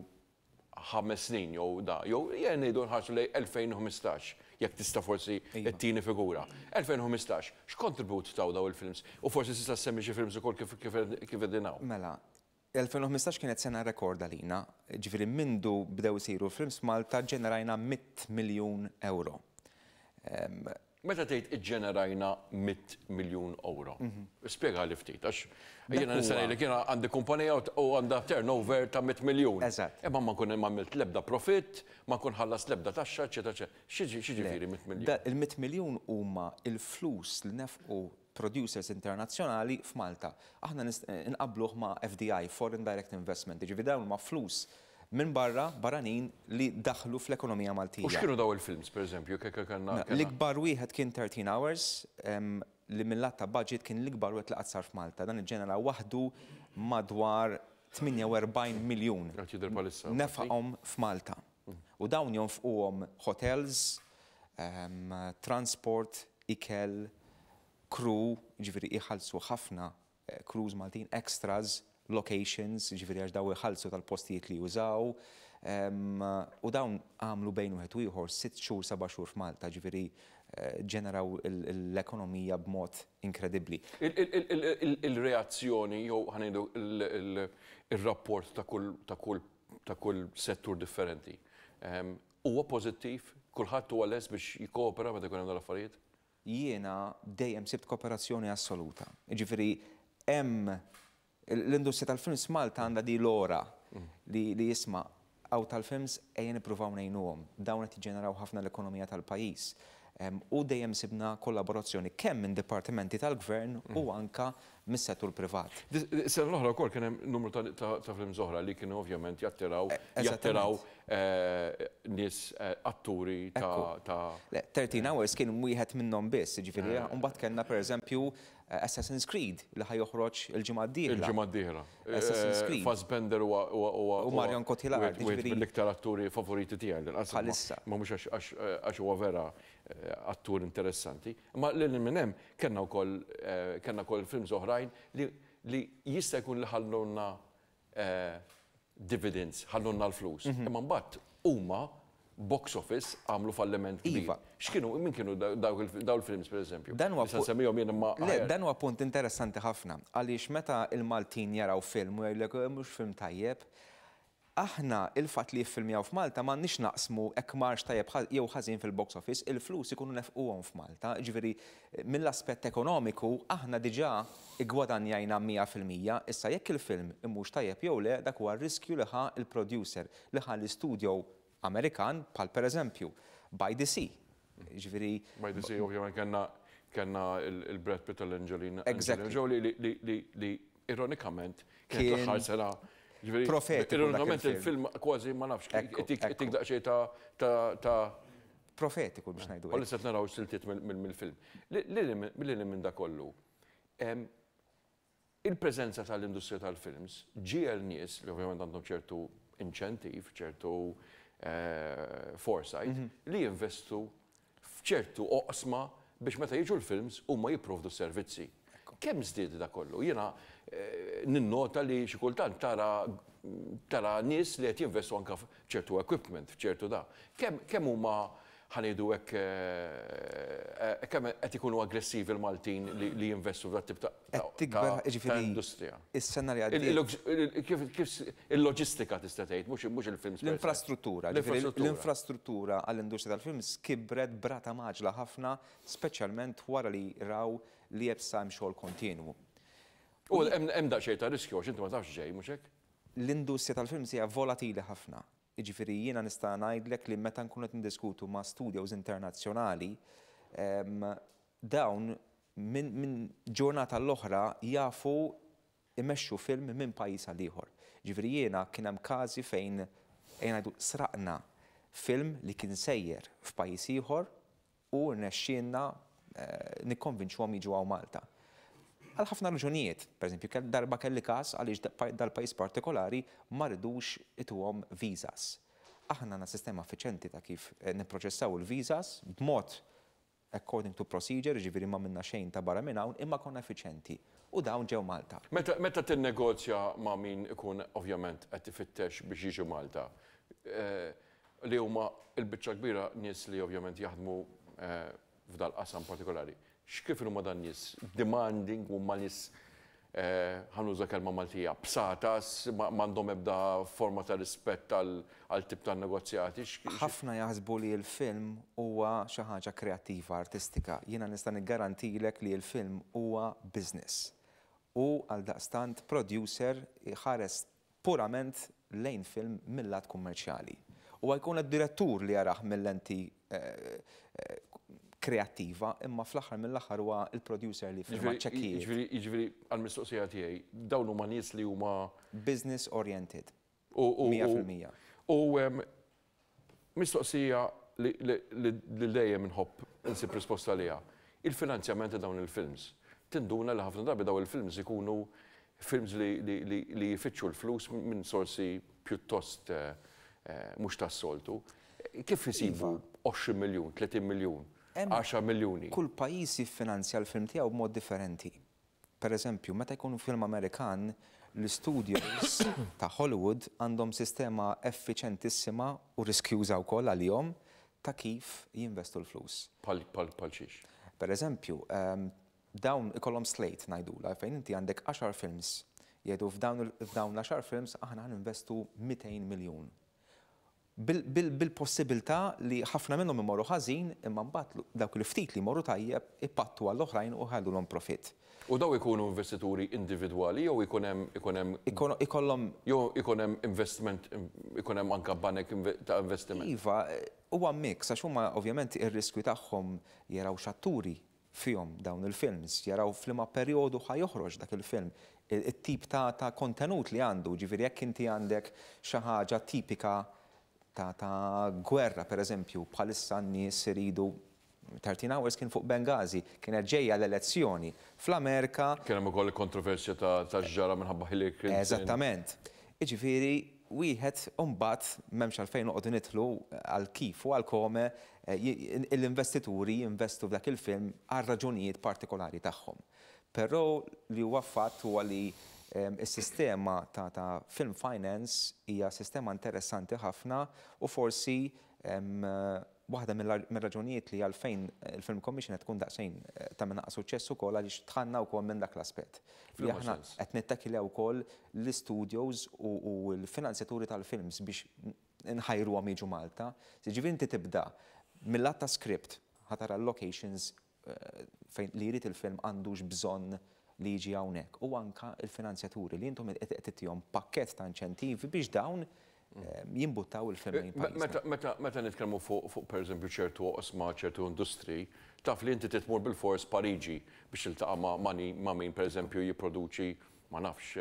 ħames snin jew da, jew ngħidu nħarsu lejn elfejn u ħmistax, jekk tista' forsi ttini figura. elfejn u ħmistax, x'kontribut taw daw il-films? U forsi tista' ssemmi xi films ukoll kif qegħdin hawn. Mela, elfejn u ħmistax kienet sena rekord għalina, ġifieri mindu bdew isiru films Malta ġenerajna mitt miljun euro. Meta tgħid iġġenerajna mitt miljun euro, spjega li ftit, għax jiena nista' ngħidlek jiena għandi kumpanija u għandha turnover ta' mitt miljun. Eżatt. Imma ma nkun għamilt l-ebda profitt, ma nkun ħallas l-ebda taxxa, eċetera, eċetera. X'jiġifieri mitt miljun? Il-mitt miljun huma il-flus li nefqu producers internazzjonali f'Malta. Aħna nqabluh ma' F D I, Foreign Direct Investment, ġifieri dawn ma' flus minn barra, barranin li daħlu fl-ekonomija Maltija. U x'kienu daw il-films, per eżempju? L-ikbar wieħed kien thirteen Hours, li mill-lat ta' budget kien l-ikbar wieħed li qatt sar f'Malta. Dan iġġenera waħdu madwar tmienja u erbgħin miljun. Nefaqhom f'Malta. U dawn jonfquhom hotels, transport, ikel, crew, ġifieri iħallsu ħafna eh, crews Maltin, extras, locations, ġifieri għax daw iħallsu tal-postijiet li jużaw. U dawn għamlu bejn wieħed u ieħor sitt xhur, seba' xhur f'Malta, ġifieri eh, ġeneraw l-ekonomija b'mod inkredibbli. Il-reazzjoni jew ħa ngħidu il-rapport ta' kull ta' kull settur differenti. Huwa pożittiv, kulħadd huwa lest biex jikkoopera meta jkun hemm l-affarijiet? Jiena dejjem sibt kooperazzjoni assoluta. Ġifieri hemm l-industrija tal-films Malta għandha di l-ora li, li jisma' għaw tal-films, ejja nippruvaw ngħinuhom. Dawn qed jiġġeneraw ħafna l-ekonomija tal-pajjiż. U dejjem sibna kollaborazzjoni kemm minn dipartimenti tal-gvern u anka mis-settur privat. Sena l-oħra wkoll kien hemm numru ta' films oħra li kienu ovvjament jattiraw e, jattiraw eh, nies, eh, atturi ta' thirteen Hours kien wieħed minnhom biss, ġifieri eh. mbagħad kellna, pereżempju, Assassin's Creed li ħa joħroġ il-ġimgħa d-dieħla. Il-ġimgħa d-dieħla. Assassin's Creed. Fassbender huwa U Marion Cotillard. Wieħed mill-iktar atturi favoriti tiegħi. Bħalissa. Ma mhux għax huwa vera attur interessanti. Ma lil minn hemm kellna wkoll kellna wkoll films oħrajn li li jista' jkun li ħallunna dividends, ħallunna l-flus. Mhm. Imma mbagħad huma box office għamlu falliment kbir. Iva. X'kienu, min kienu daw il-films, per eżempju? Dan huwa semmihom jien imma. Le, dan huwa punt interessanti ħafna għaliex meta il-Maltin jaraw film u jgħidlek mhux film tajjeb, aħna il-fatt li jiffilmjaw f'Malta m'għandniex naqsmu hekk marx tajjeb jew ħażin fil-box office, il-flus ikunu nefquhom f'Malta. Ġifieri mill-aspett ekonomiku aħna diġà igwadanjajna mija fil-mija, issa jekk il-film imux tajjeb jew le, dak huwa riskju li ħa il-producer, li ħa l-istudio Amerikan, bħal pereżempju By the Sea. Ġifieri By the Sea, ovvjament kellna kellna il-Brad Pitt u l-Angelina Exactly. Jolie li li li ironikament kienet l-aħħar sena. Profetiku. Ironikament il-film kważi, ma nafx, tik daqsxejn ta' ta' Profetiku biex ngħidu. Għalissa naraw siltiet mill-film. Lili minn da kollu. Il-preżenza tal-industrija tal-films ġiegħel nies li ovvjament għandhom ċertu inċentiv, ċertu eh, foresight, mhm. li jinvestu f'ċertu oqsma biex meta jiġu l-films huma jipprovdu servizzi. Kemm żdied da kollu? Jiena eh, ninnota li xi kultant tara tara nies li qed jinvestu anke f'ċertu equipment, f'ċertu da. Kemm kemm huma, ħa ngħidu hekk, eh, eh, kemm qed ikunu aggressivi l-Maltin li jinvestu f'dat tip ta' industrija? Is-sena li għaddiet. Kif il-loġistika tista' tgħid, mhux il-films. L-infrastruttura, l-infrastruttura għall-industrija tal-films kibret b'rata mgħaġġla ħafna, speċjalment wara li raw li jebsa hemm xogħol kontinwu. U hemm daqsxejn ta' riskju għax inti ma tafx ġej, mhux hekk? L-industrija tal-films hija volatili ħafna. Jiġifieri jiena nista' ngħidlek li meta nkunu qed niddiskutu ma' studios internazzjonali, dawn minn min ġurnata l-oħra jafu imexxu film minn pajjiż għal ieħor. Ġifieri jiena kien hemm każi fejn, ejja ngħidu, sraqna film li kien sejjer f'pajjiż ieħor u rnexxielna eh, nikkonvinċuhom jiġu hawn Malta. Għal ħafna raġunijiet, per eżempju, darba kelli każ għaliex dal-pajjiż partikolari ma ridux ituhom visas. Aħna għandna sistema effiċjenti ta' kif eh, nipproċessaw il-visas b'mod according to procedure, ġifieri ma minna xejn ta' barra minn hawn, imma konna effiċjenti. U dawn ġew Malta. Meta, meta tinnegozja ma' min ikun ovvjament qed ifittex biex jiġi Malta, eh, li huma il-biċċa kbira nies li ovvjament jaħdmu eh, f'dal qasam partikolari. X'kif huma dan nies demanding, huma nies ħa nuża kelma Maltija, bsatas, m'għandhom ebda forma ta' rispett għal tip ta' negozjati. Ħafna jaħsbu li l-film huwa xi ħaġa kreattiva, artistika. Jiena nista' niggarantilek li l-film huwa business. U għal daqstant producer ħares purament lejn film mill-lat kummerċjali. U jkun id-direttur li jarah mill-lenti eh, eh, kreattiva, imma fl-aħħar mill-aħħar huwa il-producer li firma ċekkijiet. Jiġifieri għal-mistoqsija tiegħi, dawn huma nies li huma business oriented. mija fil-mija. U mistoqsija li dejjem nħobb insib risposta għaliha. Il-finanzjament ta' dawn il-films. Tinduna li ħafna drabi dawn il-films ikunu films li jfittxu l-flus minn sorsi pjuttost eh, eh, mhux tas-soltu. Kif isibu għoxrin miljun, tletin miljun, għaxar miljuni? Kull pajjiż jiffinanzja l-film tiegħu b'mod differenti. Per eżempju, meta jkunu film Amerikan, l-studios ta' Hollywood għandhom sistema effiċentissima u riskjuża wkoll għalihom ta' kif jinvestu l-flus. Bħal xiex? Per eżempju, ehm, dawn ikollhom slate ngħidula fejn inti għandek għaxar films. Jgħidu f'dawn l-għaxar films aħna investu mitejn miljun. Bil-possibilità li ħafna minnhom imorru ħażin, imma mbagħad dawk li ftit li jmorru tajjeb ipattu għall-oħrajn u ħallulhom profit. U daw ikunu investituri individwali jew ikun hemm ikun hemm ikollhom jew ikun hemm investment, ikun hemm anke banek ta' investiment? Iva, huwa mix għax huma ovvjament ir-riskju tagħhom jaraw x'atturi fihom dawn il-films, jaraw f'liema perjodu ħa joħroġ dak il-film, it-tip ta', ta' kontenut li għandu, ġifieri jekk inti għandek xi ħaġa tipika ta', ta' gwerra, per eżempju, bħalissa n-nies iridu thirteen Hours kien fuq Benghazi, kienet ġejja l-elezzjoni. Fl-Amerika Kien hemm ukoll kontroversja ta' x'ġara minħabba Hillary Clinton. Eżattament. Jiġifieri wieħed mbagħad m'hemmx għalfejn noqogħdu nidħlu għal kif u għal kome l-investituri jinvestu f'dak il-film għal raġunijiet partikolari tagħhom. Però li huwa fatt huwa li is-sistema ta', ta' film finance hija sistema interessanti ħafna u forsi waħda mill-raġunijiet li għalfejn il-Film Commission qed tkun daqsxejn ta' minn suċċess ukoll għaliex tħanna wkoll minn dak l-aspett. Li aħna qed nittakiljaw ukoll l-studios u l-finanzjaturi tal-films biex nħajruhom jiġu Malta. Ġifieri inti tibda mill-lat ta' script ħa tara locations fejn li jrid il-film għandux bżonn li jiġi hawnhekk u anka il-finanzjaturi li intom qed tagħtihom pakkett ta' inċentivi biex dawn jimbuttaw il-film lejn pajjiżna. Meta nitkellmu fuq pereżempju ċertu oqsma, ċertu industri, taf li inti titmur bil-fors Pariġi biex tiltaqa' ma' min pereżempju jipproduċi, ma nafx,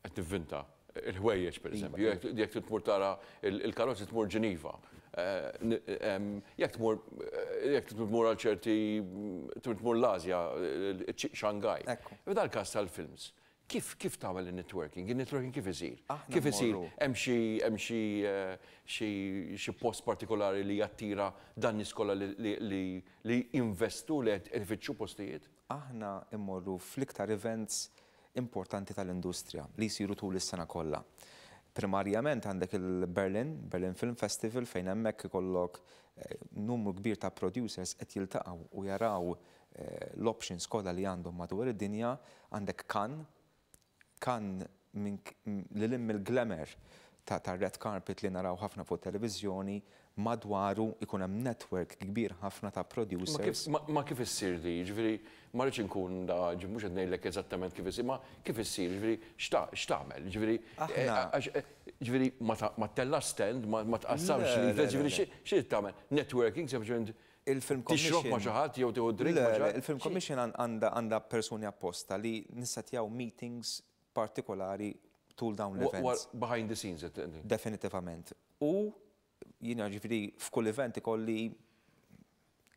qed tivvinta il-ħwejjeġ pereżempju, jekk tmur tara il-karozzi tmur Ġeniva. Jekk tmur jekk tmur għal ċerti tmur l-Asja, Shanghai. F'dal każ tal-films, kif kif tagħmel in-networking? In-networking kif isir? Kif isir? Hemm xi hemm xi xi post partikolari li jattira dan nies kollha li jinvestu li qed ifittxu postijiet? Aħna immorru fl-iktar events importanti tal-industrija li jsiru tul is-sena kollha. Primarjament għandek il-Berlin, Berlin Film Festival, fejn hemmhekk ikollok numru kbir ta' producers qed jiltaqgħu u jaraw l-options kollha li għandhom madwar id-dinja. Għandek Cannes, Cannes lil hemm il-glamour ta' red carpet li naraw ħafna fuq televiżjoni, madwaru ikun hemm network kbir ħafna ta' producers. Ma kif issir di? Ġifieri ma rridx inkun da, mhux qed ngħidlek eżattament kif issir, ma kif issir, ġifieri x'tagħmel? Ġifieri ġifieri ma tella stand, ma tqassamx li, ġifieri xi tagħmel? Networking sempliċement il-Film Commission. Tixrob ma' xi ħadd jew tieħu drink ma' xi ħadd? Il-Film Commission għandha persuni apposta li nissetjaw meetings partikolari tul dawn l-events. Behind the scenes, Definitivament. U jiena ġifieri f'kull event ikolli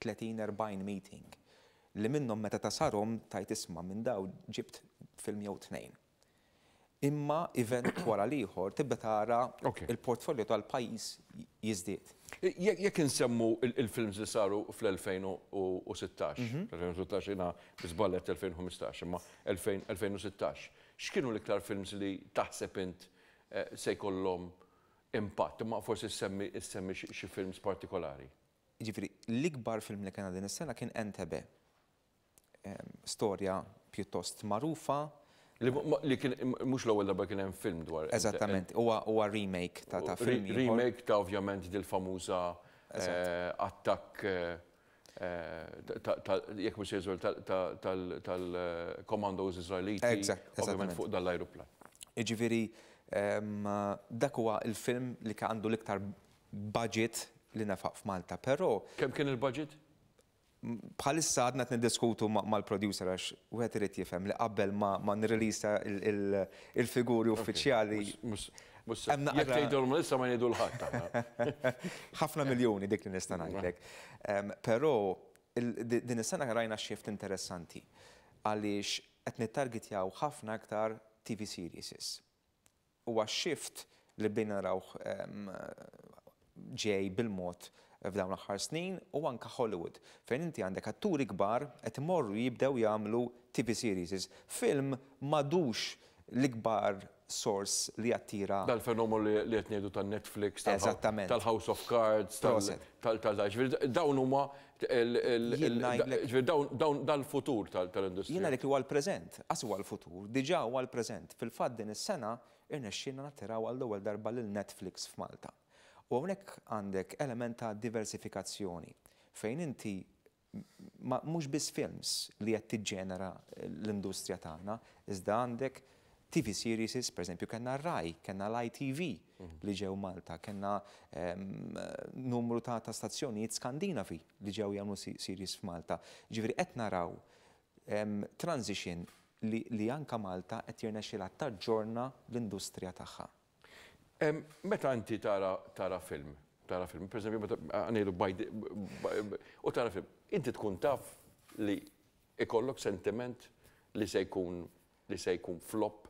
tletin erbgħin meeting li minnhom meta tasarhom tajt isma' minn daw ġibt film jew tnejn. Imma event wara l-ieħor tibda tara il-portfolio tal-pajjiż jiżdied. Jekk insemmu il-films li saru fl-elfejn u sittax, elfejn u sittax jiena biżballet elfejn u ħmistax, imma elfejn u sittax, x'kienu l-iktar films li taħseb int se jkollhom impatt, imma forsi ssemmi xi films partikolari? Jiġifieri, l-ikbar film li kellna din is-sena kien Entebbe. Storja pjuttost magħrufa Li kien mhux l-ewwel darba kien hemm film dwar. Eżattament, huwa remake ta' ta' film. Remake ta' ovvjament dil-famuża attakk, jekk mhux jeżol, tal-commandos Iżraeliti. Ovvjament fuq dal-ajruplan. Jiġifieri dak huwa il-film li għandu l-iktar budget li nefaq f'Malta, però. Kemm kien il-budget? Bħalissa għadna niddiskutu mal-producer, għax wieħed irid jifhem li qabel ma nirreleasa il-figuri uffiċjali. Jekk tgħidulhom issa, ma jgħidu 'l ħadd. Ħafna miljoni, dik li nista' ngħidlek. Però din is-sena rajna shift interessanti għaliex qed nittargetjaw ħafna aktar T V series. Huwa shift li bdejna narawh ġej bil-mod f'dawn l-aħħar snin u anka Hollywood, fejn inti għandek atturi kbar qed imorru jibdew jagħmlu T V series. Film m'għadux l-ikbar source li attira. Dal-fenomenu li qed ngħidu tan-Netflix, tal-House of Cards, tal tal dawn huma dawn dal-futur tal-industrija. Jiena dik li huwa l-preżent, qas huwa l-futur, diġà huwa l-preżent. Fil-fatt din is-sena irnexxielna nattiraw għall-ewwel darba lil Netflix f'Malta. U hawnhekk għandek element ta' diversifikazzjoni fejn inti mhux biss films li qed tiġġenera l-industrija tagħna, iżda għandek T V series, per eżempju, kellna Rai, kellna l-I T V li ġew Malta, kellna numru ta' ta' stazzjonijiet Skandinavi li ġew jagħmlu series f'Malta. Ġifieri qed naraw transition li, li anka Malta qed jirnexxilha taġġorna l-industrija tagħha. Meta inti tara tara film, tara film, per eżempju, meta ngħidu u tara film, inti tkun taf li ikollok sentiment li se jkun li se jkun flop,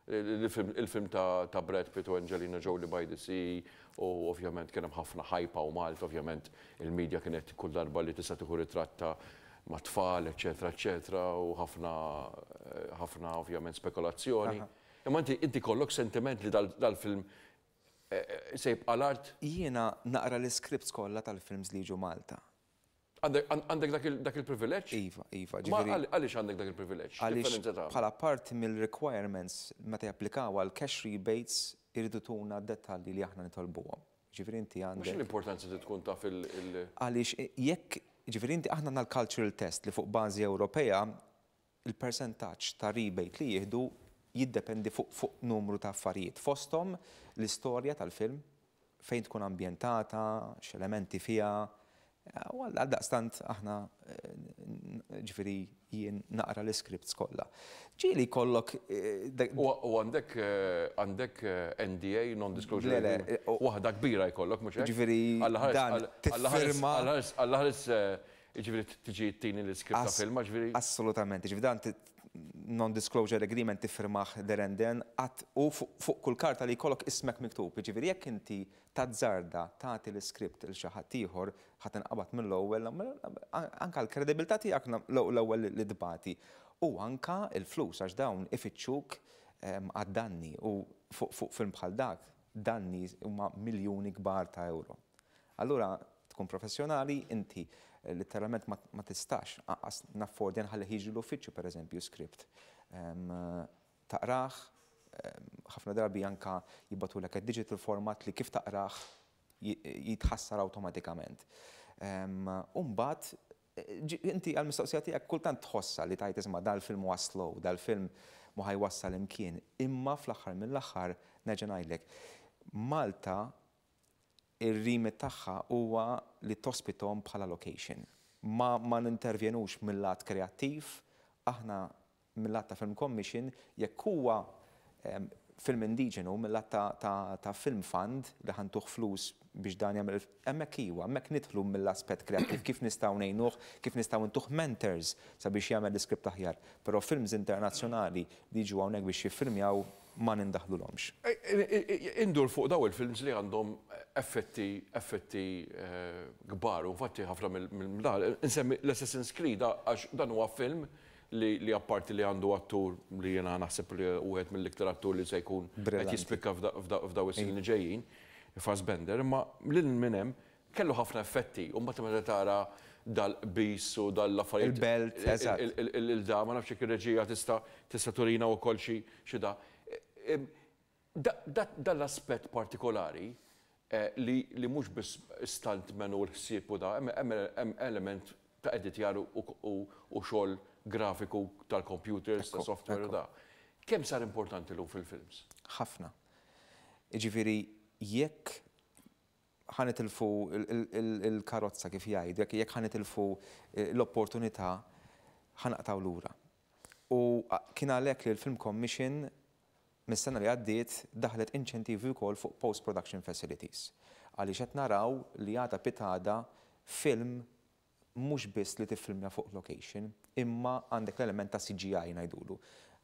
il-film ta' Brad Pitt u Angelina Jolie, By the Sea, u ovvjament kien hemm ħafna hype u Malta, ovvjament il-medja kienet kull darba li tista' tieħu ritratta ma' tfal, eċetera, eċetera, u ħafna ħafna ovvjament spekulazzjoni. Imma inti inti kollok sentiment li dal-film eh, eh, se jibqa' l-art? Jiena naqra l-scripts kollha tal-films li jiġu Malta. Għandek dak il-privileġġ? Iva, iva. Għaliex għandek dak il-privileġġ? Għaliex bħala parti mill-requirements meta japplikaw għal cash rebates iridu tuna dettalji li aħna nitolbuhom. Ġifieri inti għandek. Mhux l-importanza li tkun taf il- Għaliex jekk, ġifieri inti, aħna għandna l-cultural test li fuq bażi Ewropea il-percentaġġ ta' rebate li jieħdu jiddependi fuq fuq numru ta' affarijiet. Fosthom l-istorja tal-film, fejn tkun ambjentata, x'elementi fiha. U għaldaqstant aħna, eh, ġifieri jien naqra l-scripts kollha. Ġieli kollok. Eh, u għandek eh, għandek N D A, non-disclosure? Le, le. Waħda kbira jkollok, mhux hekk? Ġifieri dan tiffirma. Alla ħares, ġifieri tiġi tini l-script ta' filma, ġifieri. Assolutament, ġifieri dan non-disclosure agreement tiffirmah there and then u fuq kull karta li jkollok ismek miktub. Ġifieri jekk inti tazzarda tagħti l-script lil xi ħadd ieħor, ħa tinqabad mill-ewwel, anka l-kredibilità tiegħek l-ewwel li tbati. U anka il-flus, għax dawn ifittxuk għad-danni u fuq film bħal dak danni huma miljuni kbar ta' euro. Allura tkun professjonali, inti letteralment ma tistax anqas naffordja nħalli jiġi l-uffiċċju, per eżempju, script. Taqrah, ħafna drabi anka jibagħtulek digital format li kif taqrah jitħassar awtomatikament. Umbagħad, inti għal-mistoqsija tiegħek, kultant tħossa li tgħid, "Isma', dal-film huwa slow, dal-film mhu ħa jwassal imkien," imma fl-aħħar mill-aħħar nerġa' ngħidlek, Malta ir-remit tagħha huwa li tospitom bħala location. Ma, ma nintervjenux mill-lat kreattiv, aħna mill-lat ta' Film Commission, jekk huwa film indiġenu, mill-lat ta', ta, ta' Film Fund li ħa ntuh flus biex dan jagħmel hemmhekk, iwa, hemmhekk nidħlu mill-aspett kreattiv, kif nistgħu ngħinuh, kif nistgħu ntuh mentors sabiex jagħmel l-iskript aħjar. Però films internazzjonali li jiġu hawnhekk biex jiffilmjaw ma nindaħlulhomx. Indur fuq daw il-films li għandhom effetti effetti eh, kbar, u infatti ħafna mill insemmi l-Assassin's Creed, għax dan huwa film li, li apparti li għandu attur li jena naħseb li wieħed mill-iktar attur li se jkun qed jispikka f'daw is-snin li ġejjin, Fassbender, imma lil minn hemm kellu ħafna effetti, u mbagħad meta tara dal-qbis u dal-affarijiet. Il-belt, eżatt. Il-da, ma nafx jekk ir-reġija tista' tista' turina wkoll xi xi da. Dal-aspett partikolari li li mhux biss stuntman u l-ħsieb u da, hemm element ta' editjar u xogħol grafiku tal-computers, ta' software u da. Kemm sar importanti llum fil-films? Ħafna. Jiġifieri, jekk ħa nitilfu il-karozza, kif jgħidu, jekk ħa nitilfu l-opportunità, ħa naqtgħu lura. U kien għalhekk li l-Film Commission mis-sena li għaddiet daħlet inċentivi wkoll fuq post-production facilities. Għaliex qed naraw li għada pitgħada film mhux biss li tiffilmja fuq location, imma għandek l-element ta' C G I ngħidulu.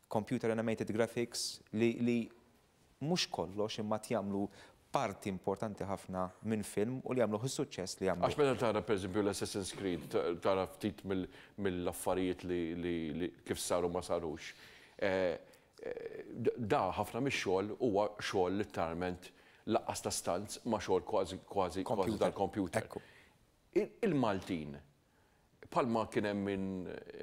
Computer Animated Graphics li, li mhux kollox, imma jagħmlu parti importanti ħafna minn film u li jagħmlu suċċess li jagħmlu. Għax meta tara, pereżempju, l-Assassin's Creed, tara ftit mill-affarijiet li kif saru, ma sarux. Eh, eh, da ħafna mix-xogħol huwa xogħol literalment lanqas ta' stunts, ma xogħol kważi kważi kważi tal-computer. Il-Maltin, bħalma kien hemm min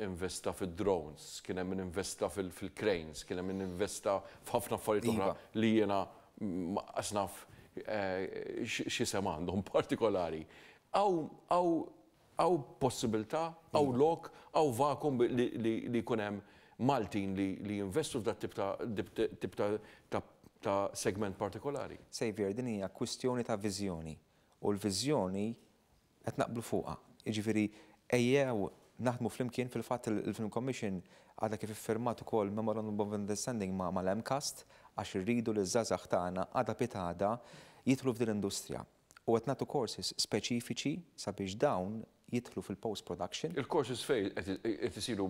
investa fid-drones, kien hemm min investa fil-cranes, kien hemm min investa f'ħafna affarijiet oħra Iva. li jiena lanqas naf eh, x'isem għandhom partikolari. Hawn possibilità, hawn lok, hawn vakum li jkun hemm Maltin li jinvestu f'dat tip ta' ta' segment partikolari? Xavier, din hija kwistjoni ta' viżjoni. U l-viżjoni qed naqblu fuqha. Jiġifieri, ejjew naħdmu flimkien. Fil-fatt, il-Film Commission għadha kif iffirmat ukoll Memorandum of Understanding ma' mal-M CAST, għax irridu li ż-żgħażagħ tagħna għada pitgħada jidħlu f'din l-industrija. U qed nagħtu courses speċifiċi sabiex dawn jidħlu fil-post production. Il-courses fejn qed isiru?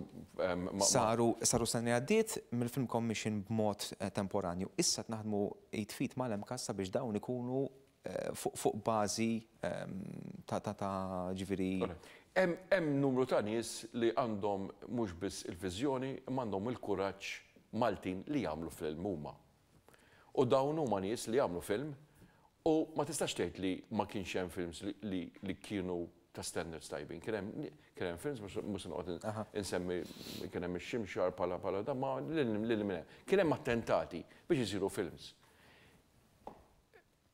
Saru saru sena għaddiet mill-Film Commission b'mod eh, temporanju. Issa naħdmu id f'id mal-M CAST sabiex dawn ikunu eh, fuq bażi ehm, ta' ta' ta' ġifieri. Hemm numru ta' nies li għandhom mhux biss il-viżjoni, imma għandhom il-kuraġġ, Maltin li jagħmlu film huma. U dawn huma nies li jagħmlu film u ma tistax tgħid li ma kienx hemm films li, li kienu ta' standards tajbin. Kien hemm films, mhux noqgħod insemmi, kien hemm ix-Ximxar pala pala da ma lil minn kien hemm attentati biex isiru films.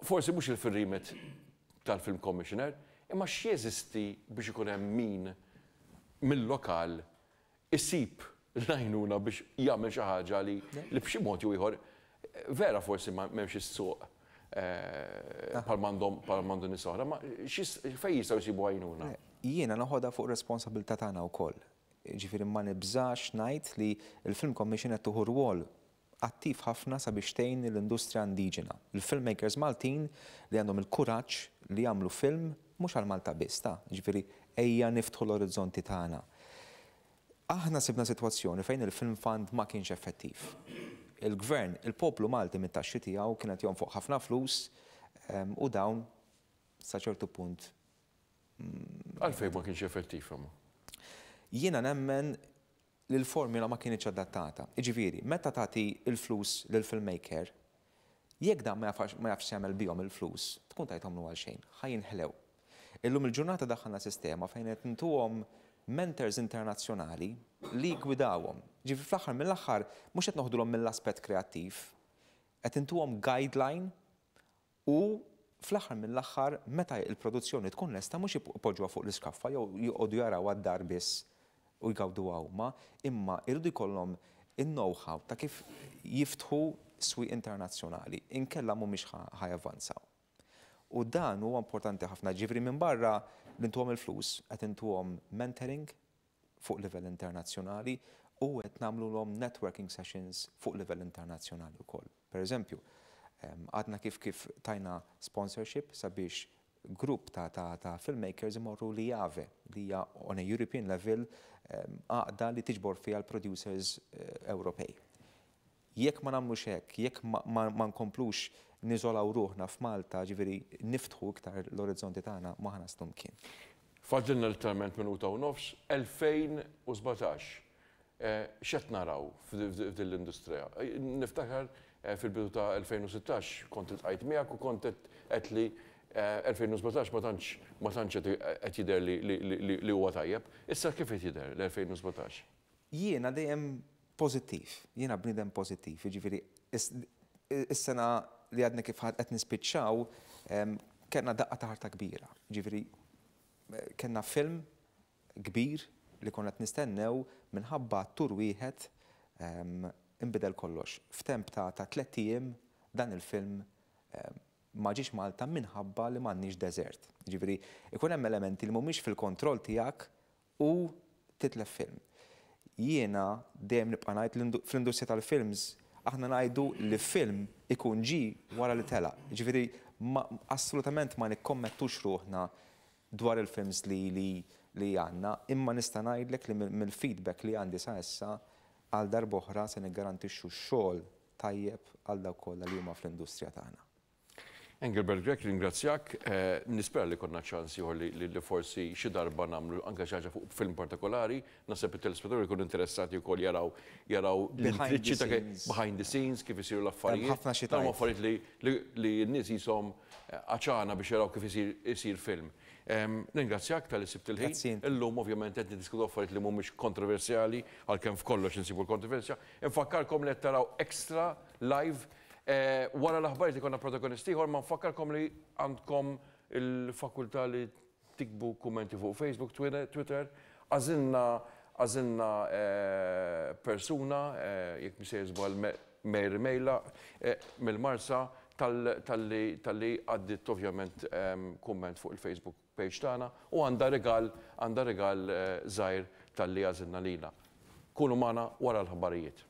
Forsi mhux il-remit tal-Film Commissioner, imma x'jeżisti biex ikun hemm min mill-lokal isib l-għajnuna biex jagħmel xi ħaġa li li b'xi mod jew ieħor vera forsi m'hemmx is-suq eh, bħal m'għandhom bħal m'għandu nies oħra, ma fejn jistgħu jsibu għajnuna? Jiena noħodha fuq responsabilità tagħna wkoll. Ġifieri, ma nibżax ngħid li l-Film Commission qed tieħu rwol attiv ħafna sabiex tgħin l-industrija indiġena. Il-filmmakers Maltin li għandhom il-kuraġġ li jagħmlu film mhux għal Malta biss, ta' ġifieri ejja niftħu l-orizzonti tagħna. Aħna sibna sitwazzjoni fejn il-Film Fund ma kienx effettiv. Il-gvern, il-poplu Malti mit-taxxi tiegħu kienet jonfoq ħafna flus u dawn sa ċertu punt. Għalfejn ma kienx effettiv imma? Jiena nemmen li l-formula ma kienx adattata. Iġifieri, meta tagħti il-flus lill-filmmaker, jekk dan ma jafx ma jafx jagħmel bihom il-flus, tkun tajthomlu għal xejn, ħa jinħlew. Illum il-ġurnata daħħalna sistema fejn qed ntuhom mentors internazzjonali li gwidawhom. Ġifieri, fl-aħħar mill-aħħar mhux qed noħdulhom mill-aspett kreattiv, qed intuhom guideline u fl-aħħar mill-aħħar, meta il-produzzjoni tkun lesta, mhux ipoġġuha fuq l-iskaffa jew joqogħdu jaraw għad-dar biss u jgawdu huma, imma irridu jkollhom il-know-how ta' kif jiftħu swieq internazzjonali, inkella mhumiex ħa javvanzaw. U dan huwa importanti ħafna. Ġifieri, minn barra li ntuhom il-flus, qed intuhom mentoring fuq livell internazzjonali u qed nagħmluhom networking sessions fuq livell internazzjonali wkoll. Per eżempju, għadna kif kif tajna sponsorship sabiex grupp ta', ta, ta' filmmakers imorru l I A V E, li hija on a European level għaqda li tiġbor fiha l-producers eh, Ewropej. Jekk ma nagħmlux hekk, jekk ma, ma, ma nkomplux niżolaw ruħna f'Malta, ġifieri niftħu iktar l-orizzonti tagħna, ma ħa naslu mkien. Fadlilna literalment minuta u nofs, elfejn u sbatax. Eh, x'qed naraw f'din l-industrija? Eh, niftakar eh, fil-bidu ta' elfejn u sittax kont iltqajt miegħek u kont qed li elfejn u sbatax ma tantx ma tantx qed jidher li huwa tajjeb. Issa kif qed jidher l-elfejn u sbatax? Jiena dejjem pożittiv, jiena bniedem pożittiv, jiġifieri is-sena li għadna kif qed nispiċċaw kellna daqqa ta' ħarta kbira. Jiġifieri kellna film kbir li konna qed nistennew, minħabba attur wieħed inbidel kollox. F'temp ta' tliet ijiem dan il-film ma ġiex Malta minħabba li m'għandniex desert. Jiġifieri ikun hemm elementi li mhumiex fil-kontroll tiegħek u titlef film. Jiena dejjem nibqa' ngħid, fl-industrija tal-films aħna ngħidu li film ikun ġi wara li tela. Jiġifieri assolutament ma nikkommettux ruħna dwar il-films li li li għandna, imma nista' ngħidlek li mill-feedback li għandi sa issa, għal darb'oħra se niggarantixxu xogħol tajjeb għal dawk kollha li huma fl-industrija tagħna. Engelbert Grech, ringrazzjak. Eh, nispera li jkollna ċans ieħor li forsi xi darba nagħmlu anke xi ħaġa fuq film partikolari. Naħseb it-telespettaturi jkunu interessati wkoll jaraw jaraw behind the scenes, behind the scenes kif isiru l-affarijiet. Ħafna xi Dawn affarijiet li n-nies jisom għaċana biex jaraw kif isir film. Ningrazzjak talli sibt il-ħin. Illum ovvjament qed niddiskutu affarijiet li mhumiex kontroversjali, għalkemm f'kollox insibu l-kontroversja. Infakkarkom li qed taraw Extra live. Eh, wara l-aħbarijiet ikollna protagonisti ieħor, ma nfakkarkom li għandkom il-fakultà li tiktbu kummenti fuq Facebook, Twitter. Għażilna għażilna eh, persuna, eh, jekk mhux żball Mary Mejla mill-Marsa, talli għaddiet ovvjament kumment fuq il-Facebook page tagħna u għandha regal għandha regal żgħir talli għażilna lilha. Kunu magħna wara l-aħbarijiet.